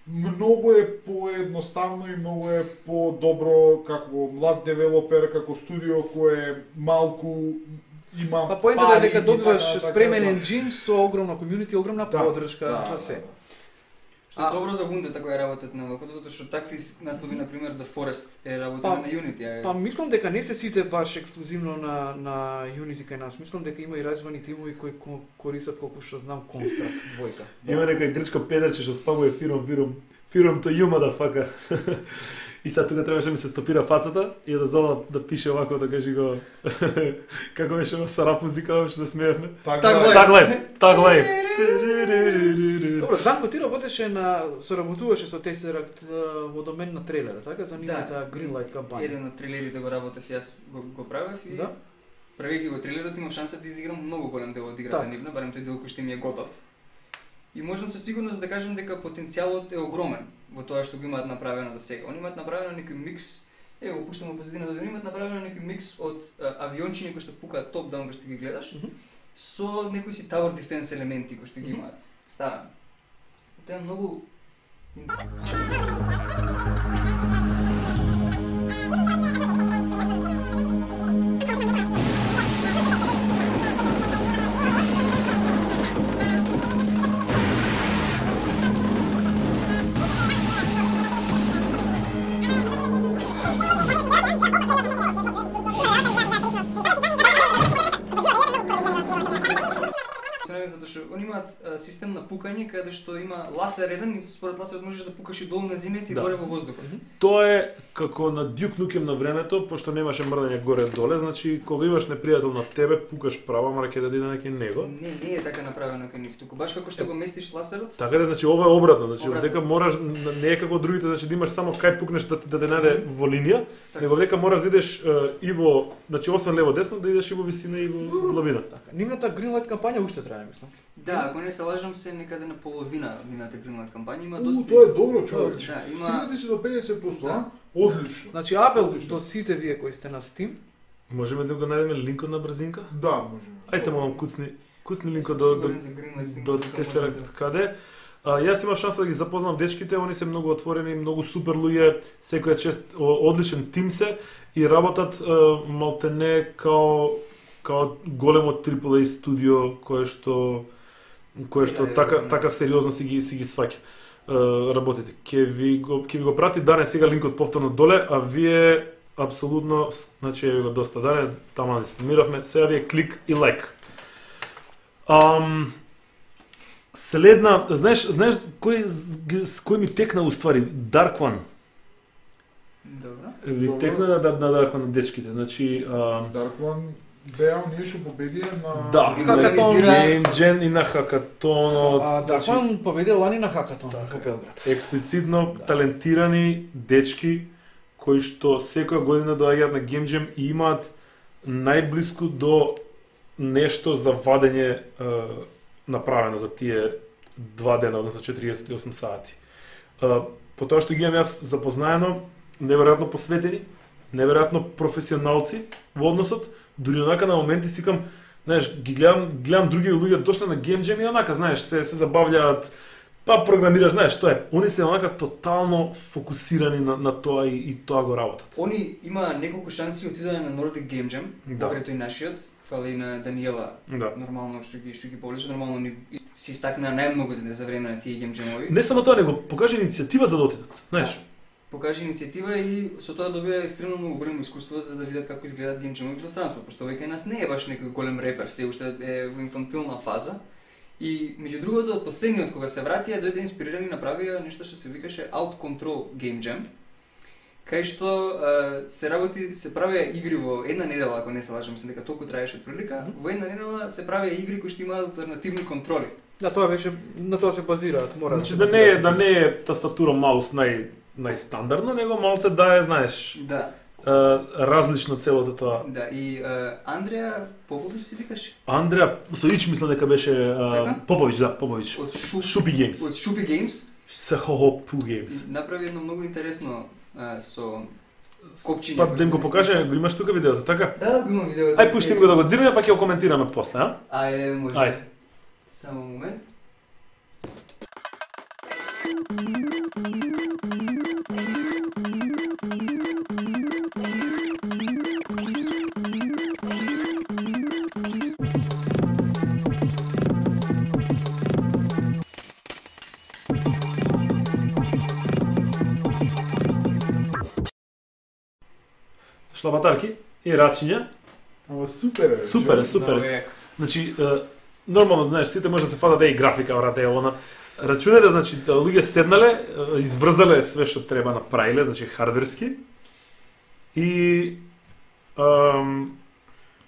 многу е поедноставно и многу е подобро како млад девелопер, како студио кое е малку има па поентата е дека добиваш спремен енџин со огромна комјунити, огромна поддршка за се. Што е добро за Wounded ако ја работат на вакво, затоа што такви наслови на пример The Forest е работена на Unity. Па мислам дека не се сите баш ексклузивно на Unity кај нас. Мислам дека има и развојни тимови кои користат колку што знам Construct двојка. Има некој грчко педарче што спамува фиром to you motherfucker. И сега тука требаше ми се стопира фацата и да зова да пише овако да кажи го како беше со рап музика што да смеевме. Так лайф. Добро, Данко ти работеше соработуваше со Tesseract во домен на трейлера, така за нивната Greenlight кампања. Еден од трейлерите го работев, јас го правев и правејќи го трейлерот имав шанса да изиграм многу голем дел од играта нивна, барем тој дел кој што ми е готов. И можам со сигурност да кажам дека потенцијалот е огромен во тоа што го имаат направено до сега. Они имаат направено некој микс, го пуштам во позадината да имаат направено некој микс од авиончиња кои што пукаат топ-даун кои што ги гледаш, со некои си tower defense елементи кои што ги имаат. Ставен. Тоа е многу затоа што они имаат систем на пукање каде што има ласер еден и според ласерот можеш да пукаш и долу на земјата и горе во воздухот. Тоа е како на Duke Nukem на времето, пошто немаше мрдање горе-доле, значи кога имаш непријател на тебе, пукаш право, мора ќе да иде на него. Не е така направено кај нив туку, баш како што го местиш ласерот. Така е, значи ова е обратно, значи дека можеш не е како другите, значи да имаш само кај пукнеш да те најде во линија, него дека можеш да идеш и во, значи освен лево десно да идеш и во висина и во длабина. Така, нивната Greenlight кампања уште трае, мислам. Да, ако не се лажам, се некаде на половина нивната Greenlight кампања има доста. Тоа е добро, човек. Да, има Стигнете си до 50%, а? Одлично. Значи апел до сите вие кои сте на Steam. Можеме да го најдеме линкот на брзинка? Да, можеме. Ајте молам куцни линкот до Tesseract каде. Јас имав шанса да ги запознам дечките, они се многу отворени, многу супер луѓе, секоја чест одличен тим се и работат малтене као големо AAA студио кое што така сериозно си ги сваќа работите. Ќе ви го прати Дане сега линкот повторно доле, а вие апсолутно, значи ја ви го доста Дане, таму да спомиравме, сега ви е клик и лайк. Следна, знаеш кој ми текна уствари? Dark One. Добро. Ви текна на Dark One на дечките, значи Dark One беа ние што победија на Хакатон Game Jam и на Хакатонот. Dark One победил лани на Хакатон во Белград. Експлицитно талентирани дечки кои што секоја година доаѓаат на Game Jam и имаат најблиску до нешто за вадење направено за тие 2 дена, односно 48 сати. По тоа што ги имам јас запознаено, неверојатно посветени, неверојатно професионалци во односот, дури онака на моменти сикам, знаеш, ги гледам други луѓе дошли на Game Jam и онака, знаеш, се забавлjaат, па програмираш, знаеш, што е. Они се онака тотално фокусирани на тоа и тоа го работат. Они има неколку шанси отидање на Nordic Game Jam, Да. покрај тој нашиот, фали на Даниела. Да. Нормално што ги повлече, нормално ни си стакна најмногу за време на тие Game Jam-ови. Не само тоа, него покажа иницијатива за да отидат, знаеш. Покажа иницијатива и со тоа добија екстремно многу големо искуство за да видат како изгледаат Game Jam-ови во странство, пошто овој кај нас не е баш некој голем репер, се уште е во инфантилна фаза. И меѓу другото, од последниот кога се вратија, дојде инспирирани и направија нешто што се викаше Out Control Game Jam, кај што се правеа игри во една недела, ако не се лажам, дека толку траеше прилика, во една недела се правеа игри кои што имаат алтернативни контроли. Да, тоа беше, на тоа се базираат, мора Значи да да не е тастатура маус најстандардно, него малце да е, знаеш, Да. различно целото тоа. Да, и Андреа Попович се викаше? Андреа Соич мислам дека беше Попович, да, Попович. Од Шупи Games. Од Шупи Games. Сахохопу Games. Направи едно многу интересно со копчиња. Па да им го покаже, го имаш тука видеото, така? Да, го имам видеото. Ај пушти го да го дзираме, па ќе го коментираме после, а? Ајде, може. Ајде. Само момент. Шлабатарки и рачиња. Ама супер е. Супер е, човек. супер Много е. е. Значи, нормално, знаеш, сите може да се фатат и графика, врате, она. Рачунете, значи, луѓе седнале, изврздале све што треба направиле, значи хардверски. И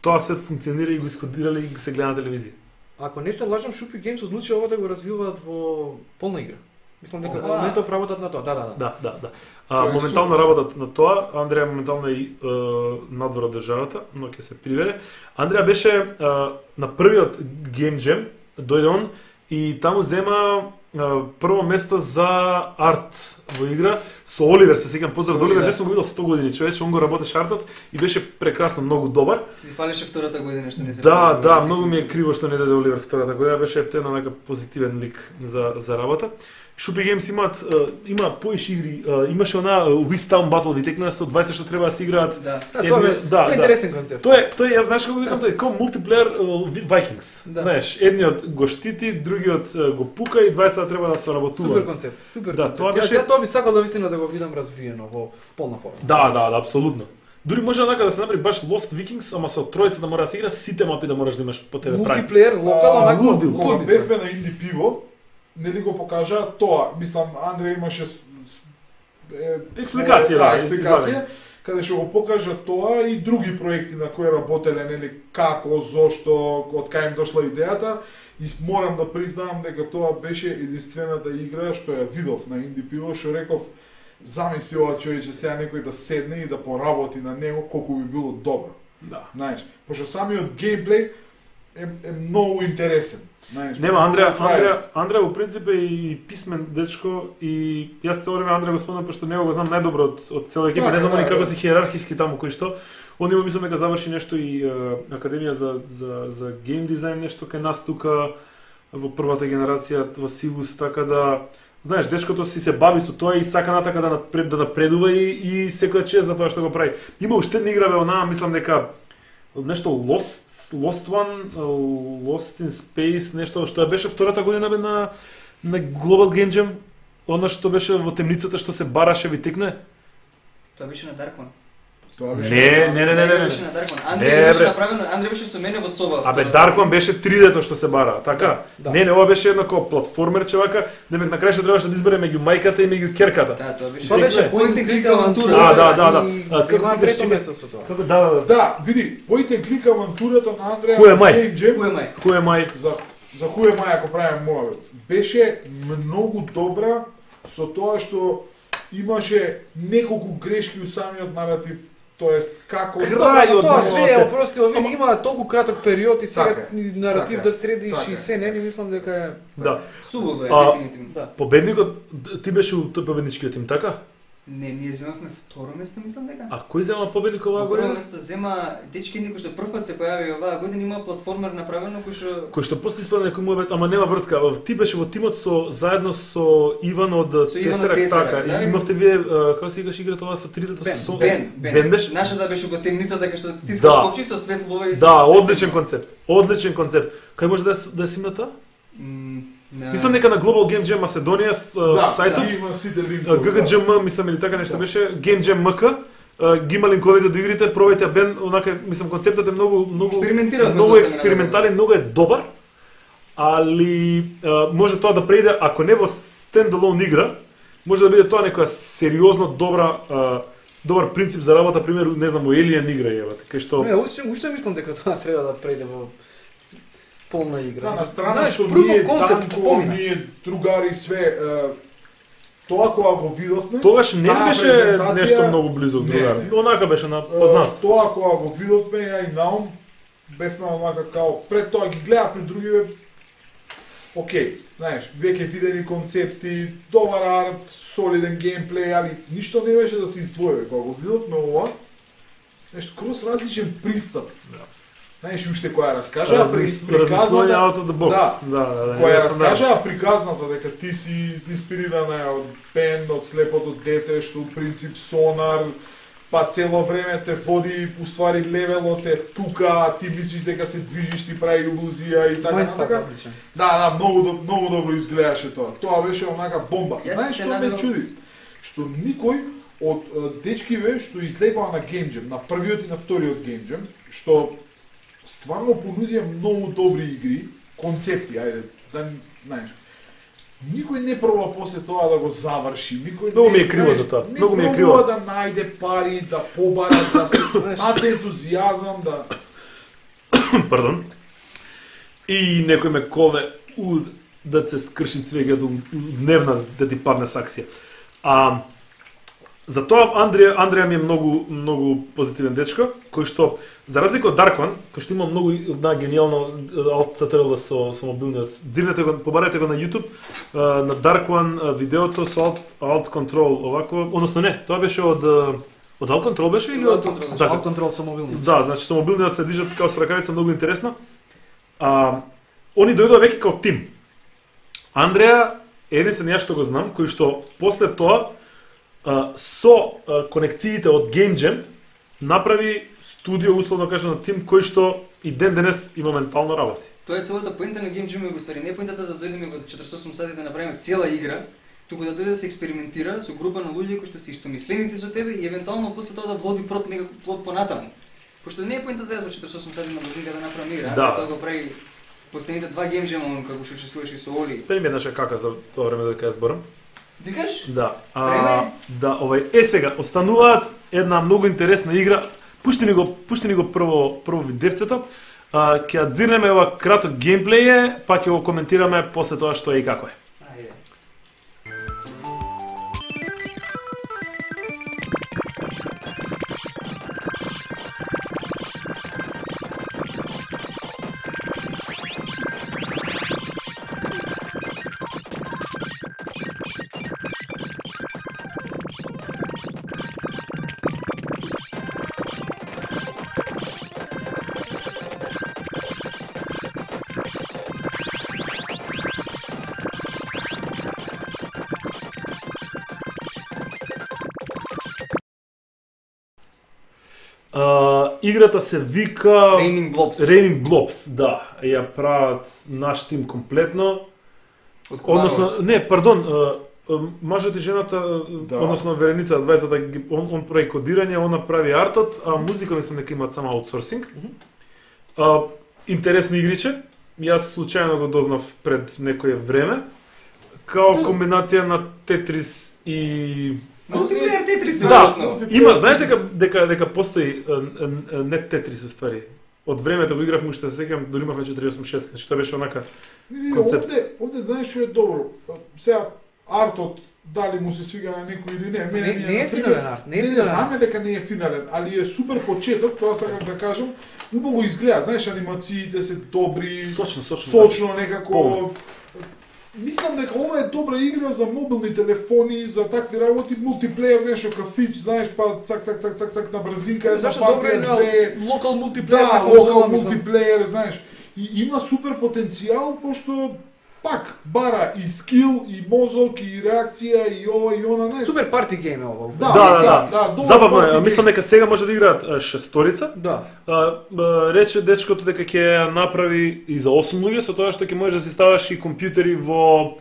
тоа се функционира и го искодирале и се гледа на телевизија. Ако не се лажам, Шупи Games одлучи ова да го развиваат во полна игра. Мислам дека Ова. во моментов работат на тоа. Да. Да. Тоа е Моментално работат на тоа. Андреа моментално е надвор од државата, но ќе се приведе. Андреа беше на првиот Game Jam, дојде он и таму зема прво место за арт во игра со Оливер, се сеќавам, поздрав до Оливер, не сум го видел 100 години, човече, он го работеше артот и беше прекрасно, многу добар. Ми фалеше втората година што не се. Да, многу ми е криво што не даде Оливер втората година, беше птена нека позитивен лик за работа. Shopee Games има поиш игри, имаше она Wiz Town Battle витекна 120 што треба да се играат. Тоа е интересен концепт. Тој јас знаеш како викам, тој е како мултиплеер Vikings. Знаеш, едниот го штити, другиот го пука и двајцата треба да се работуваат. Супер концепт, супер концепт. Тоа беше тоа би сакал да мислам да го видам развиено во полна форма. Да, апсолутно. Дури може онака да се направи баш Lost Vikings, ама со тројца да мора да се игра, сите мапи да мораш да имаш по тебе прави. Мултиплеер, локално онака лудил. Кога бевме на Инди Пиво, нели го покажа тоа, мислам Андреј имаше експликација, каде што го покажа тоа и други проекти на кои работеле, нели како, зошто, од кај им дошла идејата, и морам да признавам дека тоа беше единствената игра што ја видов на Инди Пиво, што реков замисли ова човече сега некој да седне и да поработи на него колку би било добро. Да. Знаеш, пошто самиот геймплей е многу интересен. Нема, Андреа во принцип е и писмен дечко и јас цело време Андреа го спомнам пошто него го знам најдобро од цела екипа, не знам они како се хиерархиски таму кој што. Он има мислам дека заврши нешто и академија за гейм дизајн нешто кај нас тука во првата генерација во Сивус, така да знаеш, дечкото си се бави со тоа и сака натака да напредува и секоја чест за тоа што го прави. Има уште една игра онаа, мислам дека нешто Lost One, Lost in Space, нешто што беше втората година бе на Global Game Jam, она што беше во темницата што се бараше ви текне. Тоа беше на Dark One. Не. Беше на Dark One. Андреј беше направено, Андреј беше со мене во соба. Абе Dark One беше 3D-то што се бара, така? Да. Не, ова беше еднакво платформерче вака, демек на крај што требаше да избере меѓу мајката и меѓу керката. Да, тоа беше. Тоа беше point and click авантура. Да. Како се трето место со тоа. Како да. Да, види, point and click авантурата на Андреа Who am I? Game Jam, Who am I? за Who am I, ако правим моја, беше многу добра со тоа што имаше неколку грешки у самиот наратив. Тоест, како... Крајот тоа на све е прости, овие има толку краток период и сега наратив така, да средиш така. и се, не мислам дека е... Да. Субово е, дефинитивно. Да. Победникот, ти беше у тој победничкиот тим, така? Не, ние земавме второ место, мислам дека. А кој зема победник оваа Прво година? место зема дечки кој што прв пат се појави оваа година, има платформер направено Кој што после испада некој му ама нема врска. Ти беше во тимот заедно со Иван од Тесерак, така. да, И имавте вие како се играш играта оваа со 3D-то Бен беше? Нашата беше во темницата кај што стискаш копчи со светлова и Да, одличен концепт. Кај може да си на тоа? Мислам дека на Global Game Jam Macedonија сајтот има сите GGGM, мислам или така нешто беше, Game Jam MK, ги има линковите до игрите, пробајте бен, онака, мислам концептот е многу експериментален, многу е добар, али може тоа да преиде, ако не во стендалон игра, може да биде тоа некоја сериозно добар принцип за работа, пример, не знам, во Alien игра е, кај што... Не, уште мислам дека тоа треба да преиде во полна игра. Да, на страна што ние Данко, ние другари све, тоа кога го видовме, тогаш не беше нешто многу близо другари. Онака беше на познат. Тоа кога го видовме, ја и Наум, бевме онака као, пред тоа ги гледавме другиве, окей, знаеш, веќе видени концепти, добар арт, солиден геймплей, али ништо не беше да се издвои. Кога го видовме ова, нешто скроз различен пристап. Знаеш, уште која раскажа приказната out of the box. Која раскажа приказната дека ти си инспирирана од Бен, од слепото дете, што у принцип сонар, па цело време те води, уствари левелот е тука, ти мислиш дека се движиш, ти прави илузија и така. Да, многу добро изгледаше тоа. Тоа беше онака бомба. Знаеш што ме чуди? Што никој од дечкиве што излегува на Game Jam, на првиот и на вториот Game Jam, што стварно понудија многу добри игри, концепти, ајде, да, знаеш. Никој не проба после тоа да го заврши, никој многу ми е криво за тоа. Многу ми е криво да најде пари, да побара, да се наце ентузијазам, да Пардон. И некој ме кове да се скрши цвеќе до дневна да ти падне саксија. Затоа Андреја ми е многу позитивен дечко, кој што за разлика од Dark One, кој што има многу една генијално Alt CTRL со мобилниот. Дзирнете го, побарајте го на YouTube, на Dark One видеото со Alt Control овако, односно не, тоа беше од Alt Control беше или од Alt Control со мобилниот. Да, значи со мобилниот се движат како со ракавица, многу интересно. Они дојдоа веќе како тим. Андреја единствен ја што го знам, кој што после тоа со конекциите од Game Jam направи студио, условно кажано, тим кој што и ден денес и моментално работи. Тоа е целата поинта на Game Jam во ствари. Не поинтата да дојдеме во 48 сати да направиме цела игра, туку да дојде да се експериментира со група на луѓе кои што се истомисленици со тебе и евентуално после тоа да води некој плод понатаму. Пошто не е поинтата да во 48 сати на базинка да направи игра, тоа го прави последните 2 Game Jam како што учествуваше со Оли. Пе ми еднаш кака за тоа време дека ја зборам. Викаш? Да. Да, сега остануваат една многу интересна игра. Пушти ни го прво видевцето. Ќе ја дзирнеме ова краток геймплеј, па ќе го коментираме после тоа што е и како е. Ајде. Играта се вика Raining Blobs. Raining Blobs, да. Ја прават наш тим комплетно. Односно, не, пардон, мажот и жената, односно Вереница Адвајзата, он прави кодирање, она прави артот, а музика мислам дека имаат само аутсорсинг. Интересно игриче. Јас случајно го дознав пред некое време. Као комбинација на Тетрис и Мултиплеер Тетрис, да, има, знаеш дека постои не Тетрис уствари. Од времето го игравме, уште се сеќавам, дори имавме 486, значи тоа беше онака концепт. Овде знаеш што е добро. Сега артот дали му се свига на некој или не, мене не е финален арт, не е финален. Знаме дека не е финален, али е супер почеток, тоа сакам да кажам. Убаво изгледа, знаеш, анимациите се добри, сочно некако. Мислам дека ова е добра игра за мобилни телефони, за такви работи, мултиплеер, нешто кафич, знаеш, па цак на брзинка, една партија, две... Локал мултиплеер. Да, локал мултиплеер, знаеш. И има супер потенцијал, пошто пак бара и скил, и мозок, и реакција, и ова, и она, знаеш. Супер парти гейм е ова. Да. Забавно е, мислам дека сега може да играат шесторица. Да. Рече дечкото дека ќе направи и за 8 луѓе, со тоа што ќе можеш да си ставаш и компјутери во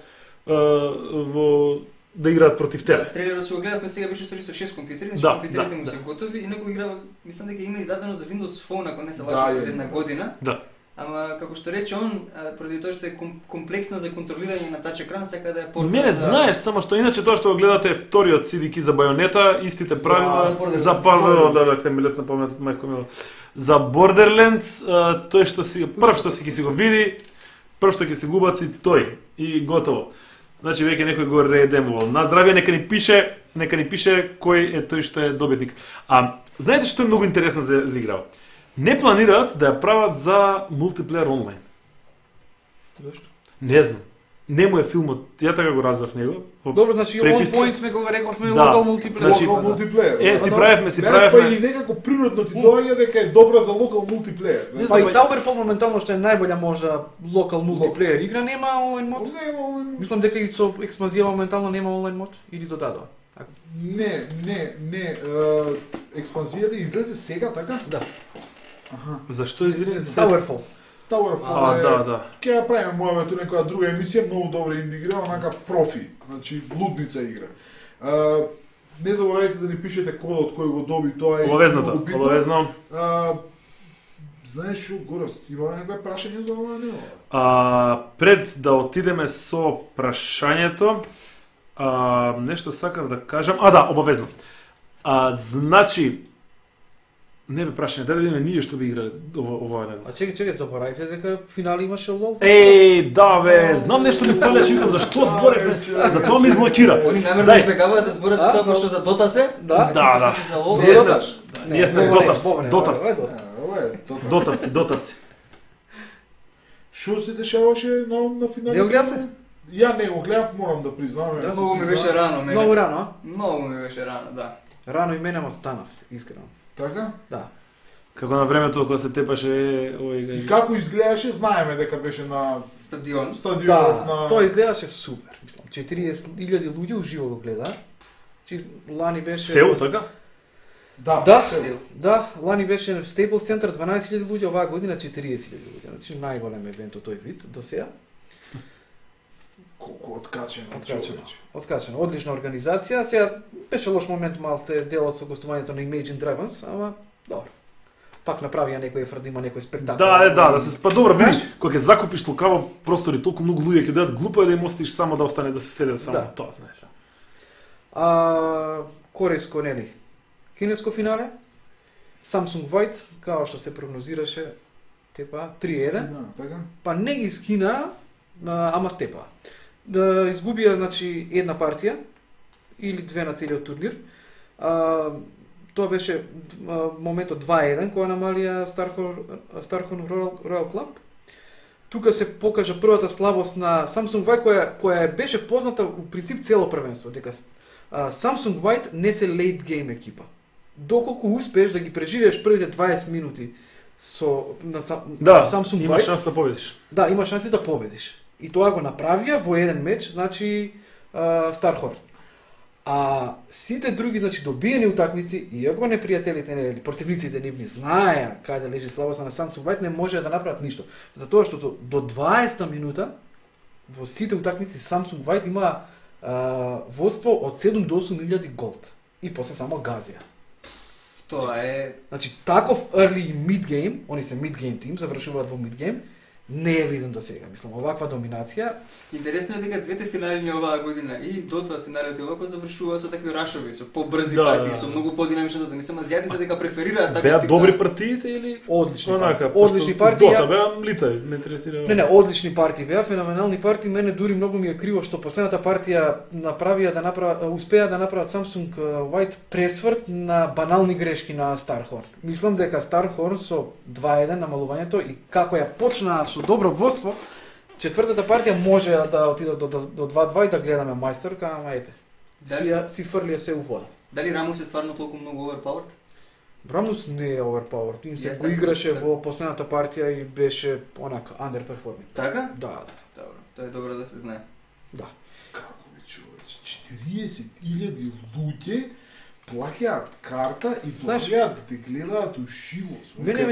да играат против тебе. Да, трейлерот се го гледавме, сега беше со 6 компјутери, значи компјутерите му се готови и некој играва, мислам дека има издадено за Windows Phone, ако не се лажам, од една година. Да. Ама како што рече он, поради тоа што е комплексна за контролирање на тач екран, сака да е порта. Мене знаеш, само што иначе тоа што го гледате е вториот CDK за Байонета, истите правила за кај ми летна паметот мајко мила. За Borderlands, тој што си прв што си го види, прв што ќе се губаци тој и готово. Значи веќе некој го редемувал. На здравје нека ни пише кој е тој што е добитник. Знаете што е многу интересно за играва? Не планираат да ја прават за мултиплеер онлайн. Зошто? Не знам. Не му е филмот, ја така го разбрав него. Добро, значи on point сме го рековме локал мултиплеер. Локал мултиплеер. Си правевме. Па и некако природно ти доаѓа дека е добра за локал мултиплеер. Па и Towerfall моментално што е најбоља можда локал мултиплеер игра, нема онлайн мод. Мислам дека и со експанзија моментално нема онлайн мод или додадоа. Не, експанзијата излезе сега, така? Да. Зашто извини? Towerfall. Да. Ќе ја правиме мојавето некоја друга емисија, многу добра инди игра, онака профи, значи блудница игра. Не заборавајте да ни пишете кодот кој го доби, тоа е многу битно. Обавезно. Знаеш што, Горост, има некој прашање за ова, не? Пред да отидеме со прашањето, нешто сакав да кажам. Да, обавезно. Значи, Не бе прашање, дали да ние што би играле ова недела. А чекај, заборавивте дека финали имаше лол? Еј, да бе, знам нешто ми фалеше, викам зашто зборев, за тоа ми изблокира. Они намерно избегаваат да зборат за тоа што за Дота се? Да. Да. За лол. Не знаеш. Ние сме дотарци. Дотарци. Што се дешаваше на финалот? Не го гледавте? Ја не го гледав, морам да признавам. Да, многу ми беше рано, мене. Многу рано, а? Многу ми беше рано, да. Рано и мене, ама станав, искрено. Така? Да. Како на времето кога се тепаше овој И како изгледаше, знаеме дека беше на Стадион. стадионот Да, на... тоа изгледаше супер, мислам. 40.000 луѓе уживо го гледа. Лани беше... Сеул, така? Да, Да, се- да, лани беше в Staples Center 12.000 луѓе, оваа година 40.000 луѓе. Значи најголем евент од тој вид до сега. Колку откачено, Откачено. човече. Откачено, одлична организација. Сега беше лош момент малце делот со гостувањето на Imagine Dragons, ама добро. Пак направија некој ефорт да има некој спектакл. Да се спа добро, видиш, кога ќе закупиш толкаво простори, толку многу луѓе ќе дојдат, глупо е да им оставиш само да остане да се сведе само Да. тоа, знаеш. Корейско, нели? Кинеско финале. Samsung White, као што се прогнозираше, тепа 3-1. Да, така? Па не ги скина, ама тепа. Да изгубија, значи, една партија или две на целиот турнир. Тоа беше моментот 2-1 која намалија Starhorn Royal Club. Тука се покажа првата слабост на Samsung White која беше позната у принцип цело првенство, дека Samsung White не се late game екипа. Доколку успееш да ги преживееш првите 20 минути на Samsung има White, шанс да победиш. да, има шанси да победиш. И тоа го направија во еден меч, значи Starhorn. А сите други, значи добиени утакмици, иако непријателите или противниците нивни знаеа каде лежи слабоста на Samsung White, не може да направат ништо. Затоа што до 20-та минута во сите утакмици Samsung White има водство од 7 до 8.000 голд. И после само газија. Тоа е... Значи, таков early mid-game, они се mid-game тим, завршуваат во mid-game, не е виден до сега. Мислам, оваква доминација. Интересно е дека двете финали оваа година и Дота финалите овако завршува со такви рашови, со побрзи Да, партии, да. со многу подинамично Дота. Мислам, азијатите дека преферираат таков Беа тип добри на- партиите или Одлични онака? партии. Одлични партии. Дота беа млитави, не интересира. Не, одлични партии беа, феноменални партии. Мене дури многу ми е криво што последната партија успеа да направат Samsung White пресврт на банални грешки на Starhorn. Мислам дека Starhorn со 2-1 намалувањето и како ја почнаа со добро водство, четвртата партија може да отиде до 2-2 и да гледаме мајсторка, ама ете. Си фрлија се у вода. Дали Рамос е стварно толку многу overpowered? Рамус не е overpowered. Тим се Јас го така играше мислам. во последната партија и беше онака underperforming. Така? Да. Добро, тоа е добро да се знае. Како бе, човече, 40.000 луѓе плаќаат карта и Знаеш, доаѓаат да те гледаат ушиво. Мене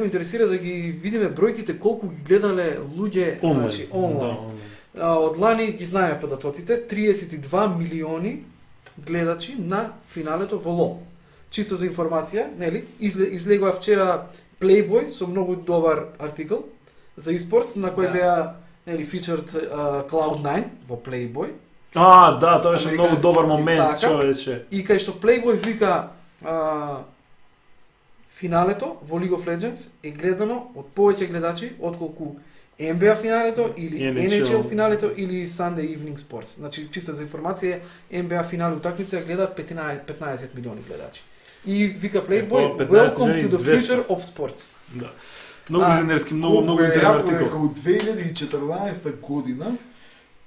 ме интересира да ги видиме бројките колку ги гледале луѓе, значи онлайн. Од лани ги знаеме податоците, 32 милиони гледачи на финалето во LoL. Чисто за информација, нели? Излегува вчера Playboy со многу добар артикл за eSports на кој Да. беа нели featured Cloud9 во Playboy. Да, тоа беше многу Американски добар тим, момент, така. човече. И кај што Playboy вика финалето во League of Legends е гледано од повеќе гледачи отколку NBA финалето или NHL финалето или Sunday Evening Sports. Значи, чисто за информација, NBA финали утакмица ја гледаат 15 милиони гледачи. И вика Playboy, 15 welcome to the милиони, future of sports. Да. Многу визионерски, многу интересен артикл. Во 2014 година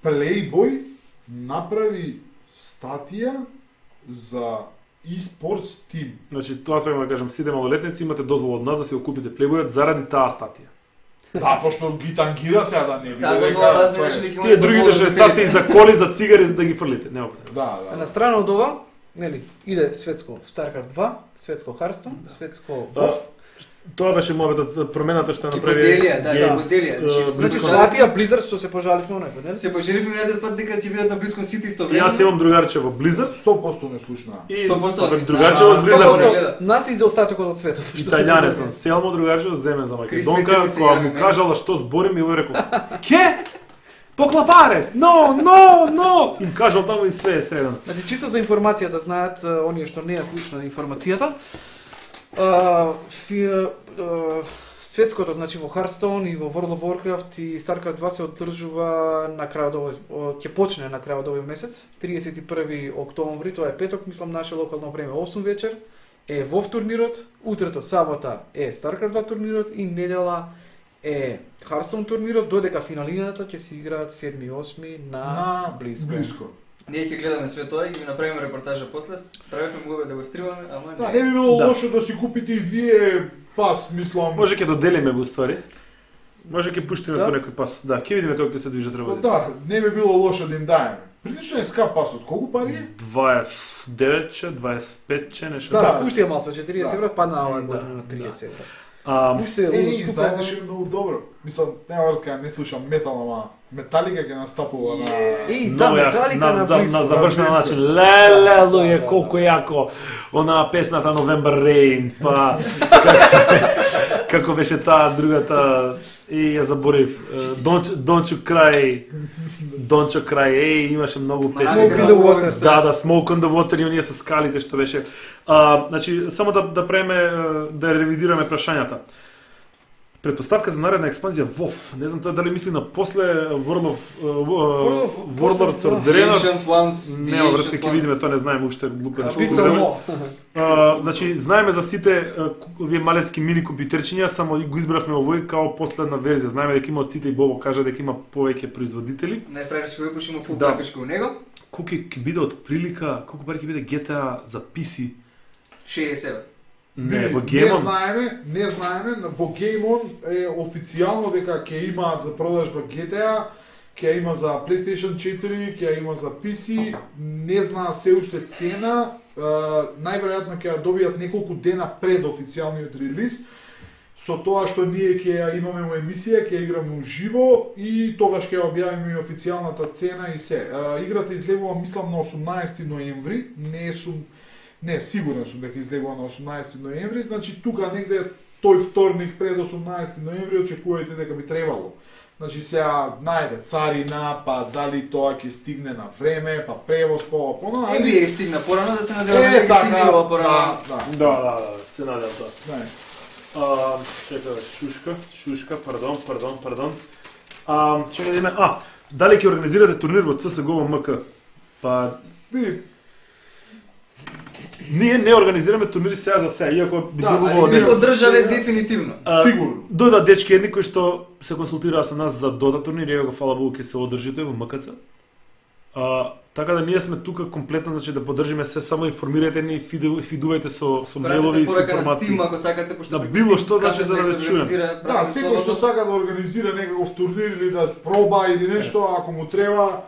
Playboy направи статија за eSports тим. Значи, тоа сакам да кажам, сите малолетници имате дозвола од нас да си го купите Playboy заради таа статија. Да, пошто ги тангира сега да не биде Таа дека... дозвола да тоа е- значи дека Тие другите што статии за коли, за цигари за да ги фрлите, нема потребно. Да, А да. на страна од ова, нели, иде светско StarCraft 2, светско Hearthstone, светско WoW. Тоа беше мојата промената што ја Ги направи поделија, да, ги Games, поделија. Значи, Blizzard. Слатија Blizzard што се пожаливме онај пат, нели? Се пожеливме минатиот пат дека ќе бидат на Близко Сити исто И време. Јас имам другарче во Blizzard 100% не слушна. и 100% не другарче од знам. Blizzard. 100%. Нас и за остатокот од светот. што се Италијанец догаѓа. сам, Селмо другарче од земен за Крис Македонка, Мецели се кога јави му мене. кажала што зборим и овој рекол: "Ке? Поклапарес! Но!" Им кажал таму и све средано. Значи, чисто за информација да знаат оние што не ја слушна информацијата, Светското, значи во Hearthstone и во World of Warcraft и StarCraft 2 се одржува на крајот ќе почне на крајот овој месец, 31 октомври, тоа е петок, мислам наше локално време 8 вечер, е WoW турнирот, утрето сабота е StarCraft 2 турнирот и недела е Hearthstone турнирот, додека финалината ќе се играат 7 и 8 на близко. Ние ќе гледаме све тоа и ќе направиме репортажа после. Правевме го да го стримаме, ама да, не би било лошо да си купите и вие пас, мислам. Може ќе доделиме во ствари. Може ќе пуштиме по некој пас. Да, ќе видиме како ќе се движат работите. Да, не би било лошо да им даеме. Прилично е скап пасот. Колку пари е? 29, 25 нешто. Да, спушти ја малку, 40 евро, падна оваа година на 30 евро. Знаеш што е многу добро. Мислам, нема врска, не слушам метал, ама Металика ќе настапува на Металика на близко. На завршен начин. Леле, луѓе, колку јако онаа песната November Rain, па како беше таа другата и ја заборив. Don't you cry, имаше многу песни. Smoke in the water. Да, Smoke on the water и оние со скалите што беше. Значи, само да да ревидираме прашањата. Предпоставка за наредна експанзија WoW. Не знам тоа дали мисли на после Warlords of Draenor. Не, врска ќе видиме, тоа не знаеме уште глупен што. Значи, знаеме за сите овие малецки мини компјутерчиња, само го избравме овој као последна верзија. Знаеме дека има од сите и Бобо кажа дека има повеќе производители. Најфраерски випуш има фул графичко у него. Колку ќе биде од прилика, колку пари ќе биде GTA за PC? 60 евро. Не, во Геймон не знаеме, во Геймон е официјално дека ќе имаат за продажба GTA, ќе има за PlayStation 4, ќе има за PC, не знаат се уште цена, најверојатно ќе ја добијат неколку дена пред официјалниот релиз, со тоа што ние ќе ја имаме во емисија, ќе играме уживо и тогаш ќе објавиме и официјалната цена и се. Играта излегува, мислам, на 18 ноември, Не, сигурен сум дека излегува на 18 ноември, значи тука негде тој вторник пред 18 ноември очекувајте дека би требало. Значи сега најде царина, па дали тоа ќе стигне на време, па превоз по пона. Вие стигна порано да се надеваме дека стигне порано. Да, се надевам тоа. Чекай, шушка, пардон. Чекай да име, дали ќе организирате турнир во CS:GO МК? Па види, ние не организираме турнири сега за сега, иако би било не поддржале дефинитивно. Сигурно. Дојдат дечки едни кои што се консултираа со нас за Dota турнир, иако фала Богу ќе се одржи тој во МКЦ. Така да ние сме тука комплетно, значи да поддржиме се, само информирајте ни, фидувајте со мејлови и со информации. Ако сакате, пошто да било што значи за да ве чуем. Да, секој што сака да организира некаков турнир или да проба или нешто, ако му треба,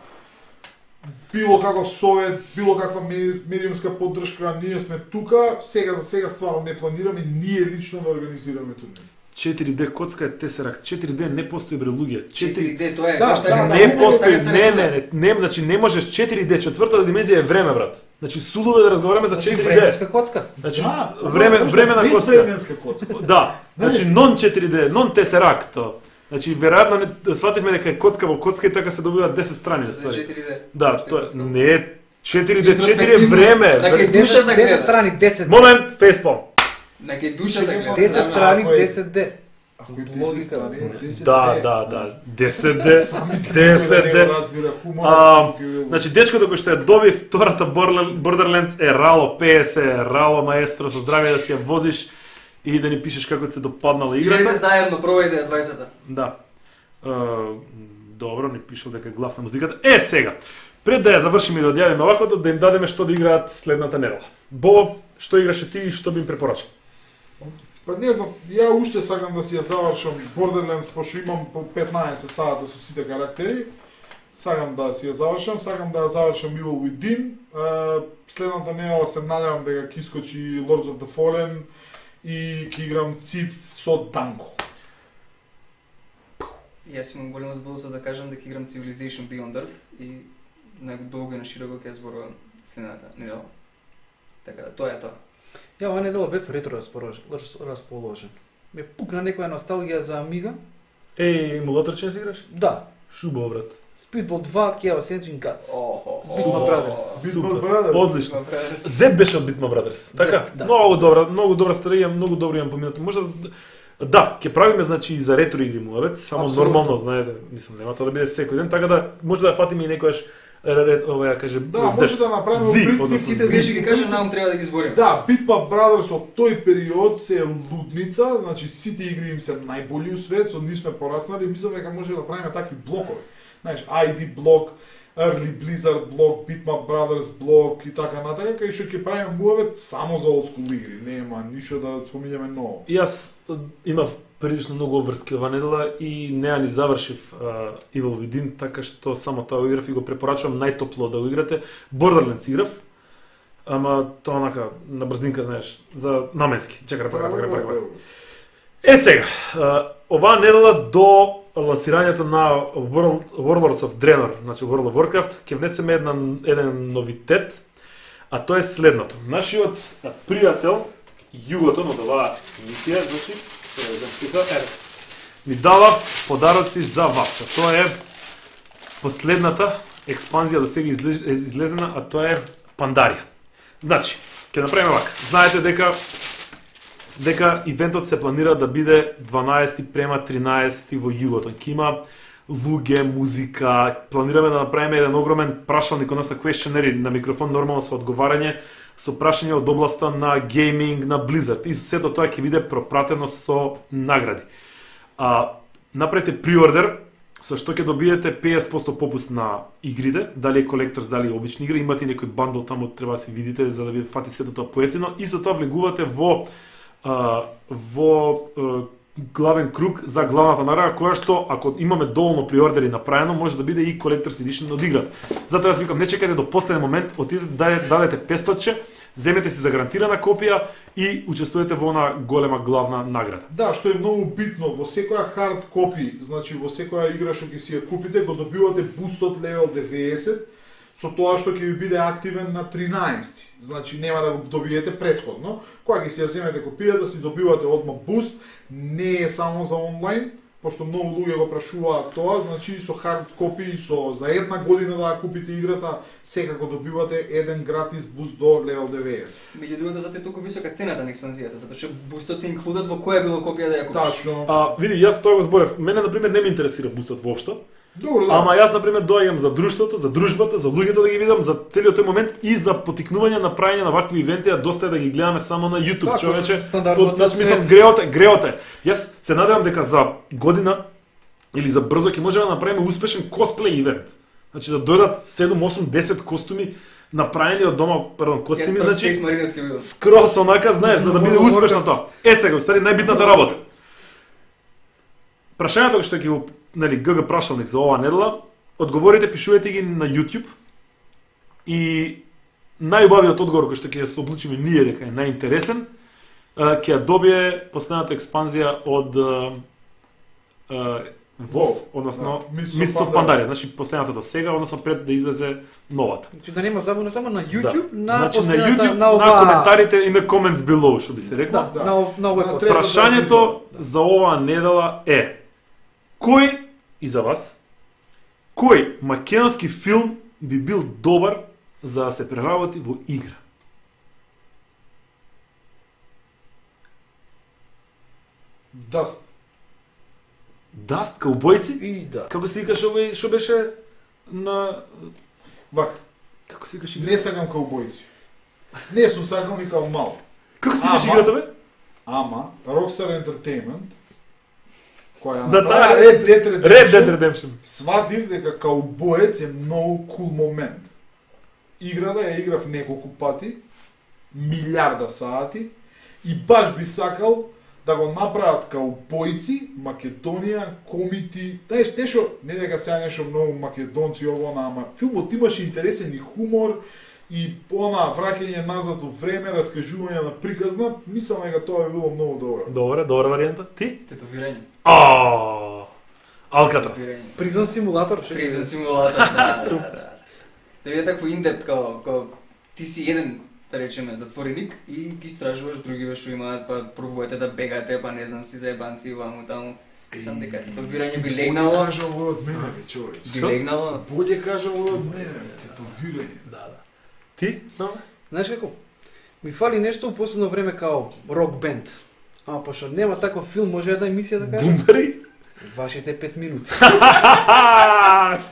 било каков совет, било каква медиумска поддршка, ние сме тука. Сега за сега стварно не планираме ние лично да организираме турнир. 4D коцка е Tesseract. 4D не постои бре луѓе. 4D тоа е не постои, не, значи не можеш 4D, четвртата димензија е време, брат. Значи сулудо да разговараме за 4D. Временска коцка. Значи времена коцка. Временска коцка. Да. Значи non 4D, non Tesseract. Значи веројатно свативме дека е коцка во коцка и така се добиваат 10 страни, ствари. 4D. Да, тоа не е 4D, 4 е време. Така душа да гледа. 10 страни, 10. Момент, фейспалм. Нека душа да гледа. 10 страни, 10D. Ако е 10 страни, 10D. Да. 10D. 10D. Значи дечкото кој што ја доби втората Borderlands е рало PS, рало маестро, со здравје да си ја возиш и да ни пишеш како се допаднала играта. Идете заедно, пробајте ја 20-та. Да. Добро, ни пишал дека гласна музиката. Сега, пред да ја завршиме и да одјавиме оваквото, да им дадеме што да играат следната недела. Бобо, што играше ти и што би им препорачал? Па не знам, ја уште сакам да си ја завршам Borderlands, пошто имам по 15 сата со сите карактери. Сакам да си ја завршам, сакам да ја завршам Evil Within. Следната недела се надевам дека ќе искочи Lords of the Fallen и ќе играм Civ со Данко. Јас имам големо задоволство да кажам дека играм Civilization Beyond Earth и на долго и на широко ќе зборувам следната недела. Така да, тоа е тоа. Ја оваа недела бев ретро расположен. Ме пукна некоја носталгија за Амига. Емулатор че си играш? Да. Шубо, брат. Speedball 2, Chaos Engine Cuts. Bitmap Brothers. Bitmap Brothers. Одлично. Z беше од Bitmap Brothers. Така, да. многу добра стратегија, многу добро имам поминато. Можда да, ќе правиме значи и за ретро игри муавет, само Апсолутно. нормално, знаете, мислам нема тоа да биде секој ден, така да може да фатиме и некојаш ова ја кажем. Да, може да направиме Зи, принцип. односно, Сите знаеш ги кажа, нам треба да ги збориме. Да, Bitmap Brothers од тој период се лудница, значи сите игри им се најболи у свет, со нив сме пораснали, мислам дека може да правиме такви блокови. Знаеш, ID блок, Early Blizzard блок, Bitmap Brothers блок и така натака, кај што ќе правиме муавет само за old school игри, нема ништо да спомињаме ново. Јас имав прилично многу обврски ова недела и неа ни завршив Evil Within, така што само тоа го играв и го препорачувам најтопло да го играте. Borderlands играв, ама тоа онака на брзинка, знаеш, за наменски. Чекај, пака. Сега, оваа недела до лансирањето на Warlords of Draenor, значи World of Warcraft, ќе внесеме еден новитет, а тоа е следното. Нашиот пријател Југото од оваа емисија, значи, ми дава подароци за вас. А тоа е последната експанзија до сега излезена, а тоа е Пандарија. Значи, ќе направиме вака. Знаете дека ивентот се планира да биде 12 према 13 во Југото. Ќе има луѓе, музика, планираме да направиме еден огромен прашалник, односно questionnaire на микрофон, нормално со одговарање, со прашања од областа на гейминг, на Blizzard. И сето тоа ќе биде пропратено со награди. Направете приордер, со што ќе добиете 50% попуст на игрите, дали е колекторс, дали е обични игри, имате и некој бандл таму, треба да се видите за да ви фати сето тоа поевтино, и со тоа влегувате во главен круг за главната награда, која што, ако имаме доволно приордери направено, може да биде и Collector's Edition од играта. Затоа јас викам, не чекајте до последен момент, отидете дадете 500, земете си загарантирана копија и учествувате во она голема главна награда. Да, што е многу битно, во секоја хард копи, значи во секоја игра што ќе си ја купите, го добивате бустот левел 90, со тоа што ќе ви биде активен на 13. Значи нема да го добиете претходно. Кога ќе си ја земете копија да си добивате одма буст, не е само за онлайн, пошто многу луѓе го прашуваат тоа, значи со хард копи, со за една година да купите играта, секако добивате еден гратис буст до левел 90. Меѓу другото, затоа е толку висока цената на експанзијата, затоа што бустот е инклудат во која било копија да ја купиш. Тачно. Види, јас тоа го зборев. Мене на пример не ме интересира бустот воопшто. Добро, да. Ама јас на пример доаѓам за друштвото, за дружбата, за луѓето да ги видам, за целиот тој момент и за потикнување на правење на вакви ивенти, а доста е да ги гледаме само на YouTube, Да, човече. стандардно Значи за мислам свет. греоте. Јас се надевам дека за година или за брзо ќе можеме да направиме успешен косплей ивент. Значи да дојдат 7, 8, 10 костуми направени од дома, костуми, значи Space Marines ќе бидат. скрос онака, знаеш, за да биде успешно тоа. Сега, устари најбитната работа. Прашањето што ќе го, нели, ГГ прашалник за оваа недела, одговорите, пишувате ги на YouTube и најубавиот одговор кој што ќе се облучиме ние дека е најинтересен, ќе ја добие последната експанзија од WoW, односно да, Mists of Pandaria, значи последната до сега, односно пред да излезе новата. Значи да нема забуна само на YouTube, на значи на последната, YouTube, на ова... на коментарите и на comments below, што би се рекло. Да, Да. на овој На подкаст. трета Прашањето епизода. за оваа недела е: кој и за вас кој македонски филм би бил добар за да се преработи во игра? Даст. Даст каубојци? И да. Како се викаш овој што беше на Вак, како се викаш не играта? сакам каубојци. Не сум сакал ни као мал. Како се викаш Ама- играта бе? Ама, Rockstar Entertainment, која Да, направи да, Red Dead Redemption, Red Dead Redemption. сватив дека каубоец е многу кул момент. Играта ја играв неколку пати, милиарда сати, и баш би сакал да го направат каубојци, Македонија, комити, знаеш, нешто, не дека сега нешто многу македонци ово, ама филмот имаше интересен и хумор, и она враќање назад во време, раскажување на приказна, мислам дека тоа би било многу добро. Добра варијанта. Ти? Тетовирање. Алкатрас. Призон симулатор, Призен симулатор, да. Да биде такво индепт, као ти си еден, да речеме, затвореник и ги истражуваш други што имаат, па пробувате да бегате, па не знам си заебанци, ваму таму. Сам дека тетовирање би легнало. Боље кажа ово од мене, бе, човече. Би легнало. Боље кажа ово од мене, бе, тетовирање. Да. Ти? Да. Знаеш како? Ми фали нешто у последно време као рок бенд. Ама пошто нема таков филм, може една емисија да кажа? Бумбари? Вашите 5 минути.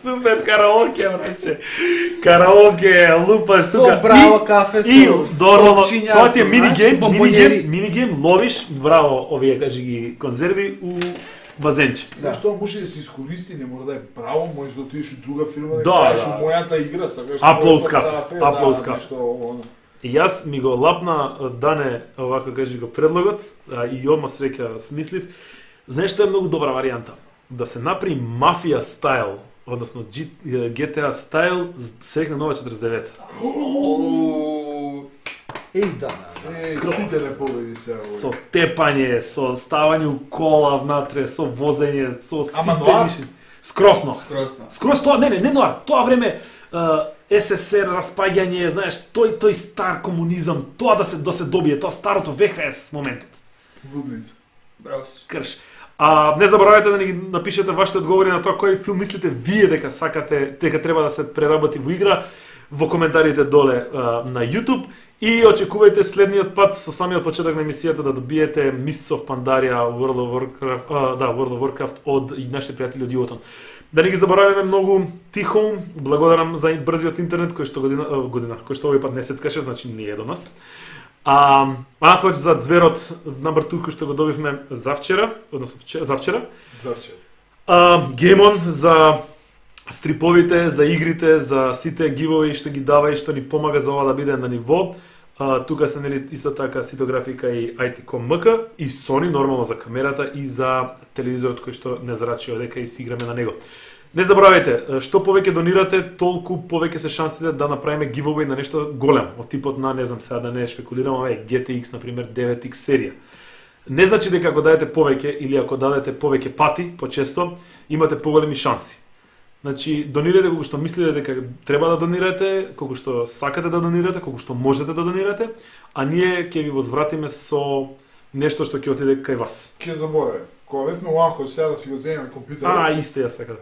Супер караоке, браче. Караоке, лупаш тука. Со браво кафе, И нормално, сопчиња, тоа ти е со, минигейм, знаеш, минигейм, ловиш, браво, овие кажи ги конзерви у базенче. Да, што може да се искористи, не мора да е право, може да отидеш у друга фирма, Да, кажеш да. у мојата игра, сакаш. Аплоус кафе, Аплоус да, кафе. нешто оно. И јас ми го лапна Дане, овако кажи го предлогот, и одма среќа смислив. Знаеш што е многу добра варијанта? Да се направи мафија стайл, односно GTA стайл, срекна нова 49. Еј да. Сите не победи се. Со тепање, со ставање у кола внатре, со возење, со Ама сите ноар? ниши. Скросно. Скросно. Скроз тоа, не ноар, тоа време СССР распаѓање, знаеш, тој стар комунизам, тоа да се добие, тоа старото ВХС моментот. Лудница. Браво. Крш. Не заборавајте да ни напишете вашите одговори на тоа кој филм мислите вие дека сакате, дека треба да се преработи во игра во коментарите доле на YouTube и очекувајте следниот пат со самиот почеток на емисијата да добиете Mists of Pandaria World of Warcraft од нашите пријатели од Јотон. Да не ги забораваме многу тихо, благодарам за брзиот интернет кој што кој што овој пат не сецкаше, значи не е до нас. Хоќ за зверот number 2 кој што го добивме завчера, односно завчера. Геймон за стриповите, за игрите, за сите гивови што ги дава и што ни помага за ова да биде на ниво. Тука се нели исто така Ситографика и IT.com.mk и Sony нормално за камерата и за телевизорот кој што не зарачи одека и си играме на него. Не заборавајте, што повеќе донирате, толку повеќе се шансите да направиме giveaway на нешто големо, од типот на, не знам сега да не шпекулирам, GTX, например, 9X серија. Не значи дека ако дадете повеќе или ако дадете повеќе пати, почесто, имате поголеми шанси. Значи, донирате колку што мислите дека треба да донирате, колку што сакате да донирате, колку што можете да донирате, а ние ќе ви возвратиме со нешто што ќе отиде кај вас. Ке забораве. Кога бевме уахо сега да си го земеме компјутерот. Исто ја сакам.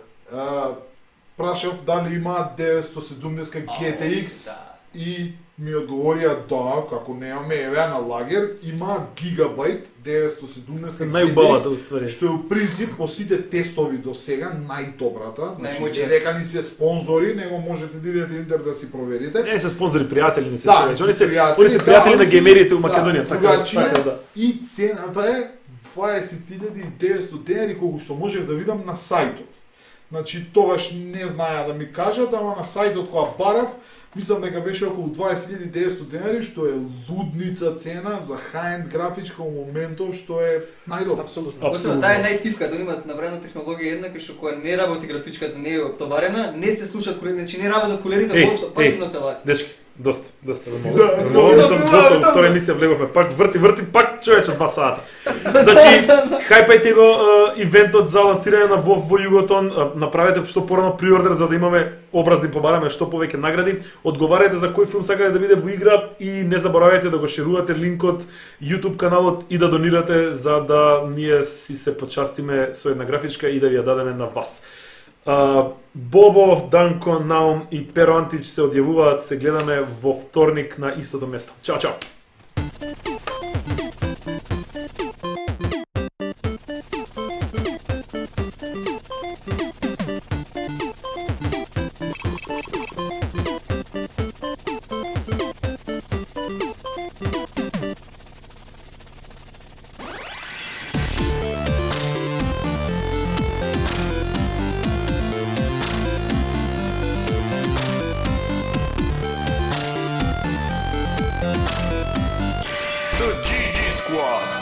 Прашав дали има 970 GTX и ми одговорија да, како немаме еве на лагер, има гигабайт 970 Најубавата GTX, уствари. што е у принцип по сите тестови до сега најдобрата. Значи, Најмоќна. дека ни се спонзори, него можете да идете интернет да си проверите. Не се спонзори пријатели, не се Да, чуеш. не Они се се пријатели, они се пријатели на да, геймерите у да, Македонија, така другачија да. И цената е 20.900 денари, колку што можев да видам на сајтот. Значи, тогаш не знаја да ми кажат, ама на сајтот кога барав, мислам дека беше околу 20.900 денари, што е лудница цена за high-end графичка во моментов, што е најдобро. Апсолутно. Освен таа е најтивката, они имаат направена технологија една кој што кога не работи графичката, не е оптоварена, не се слушаат колери, значи не работат колерите, воопшто пасивно се вади. Дечки, доста Да, много сум готов, втора емисија влеговме, пак врти, пак човече 2 сата. Значи, хајпајте го ивентот за лансирање на WoW во Југотон, направете што порано приордер за да имаме образни побараме што повеќе награди, одговарајте за кој филм сакате да биде во игра и не заборавајте да го шерувате линкот, YouTube каналот и да донирате за да ние си се почастиме со една графичка и да ви ја дадеме на вас. Бобо, Данко, Наум и Перо Антич се одјавуваат, се гледаме во вторник на истото место. Чао, чао! The GG Squad.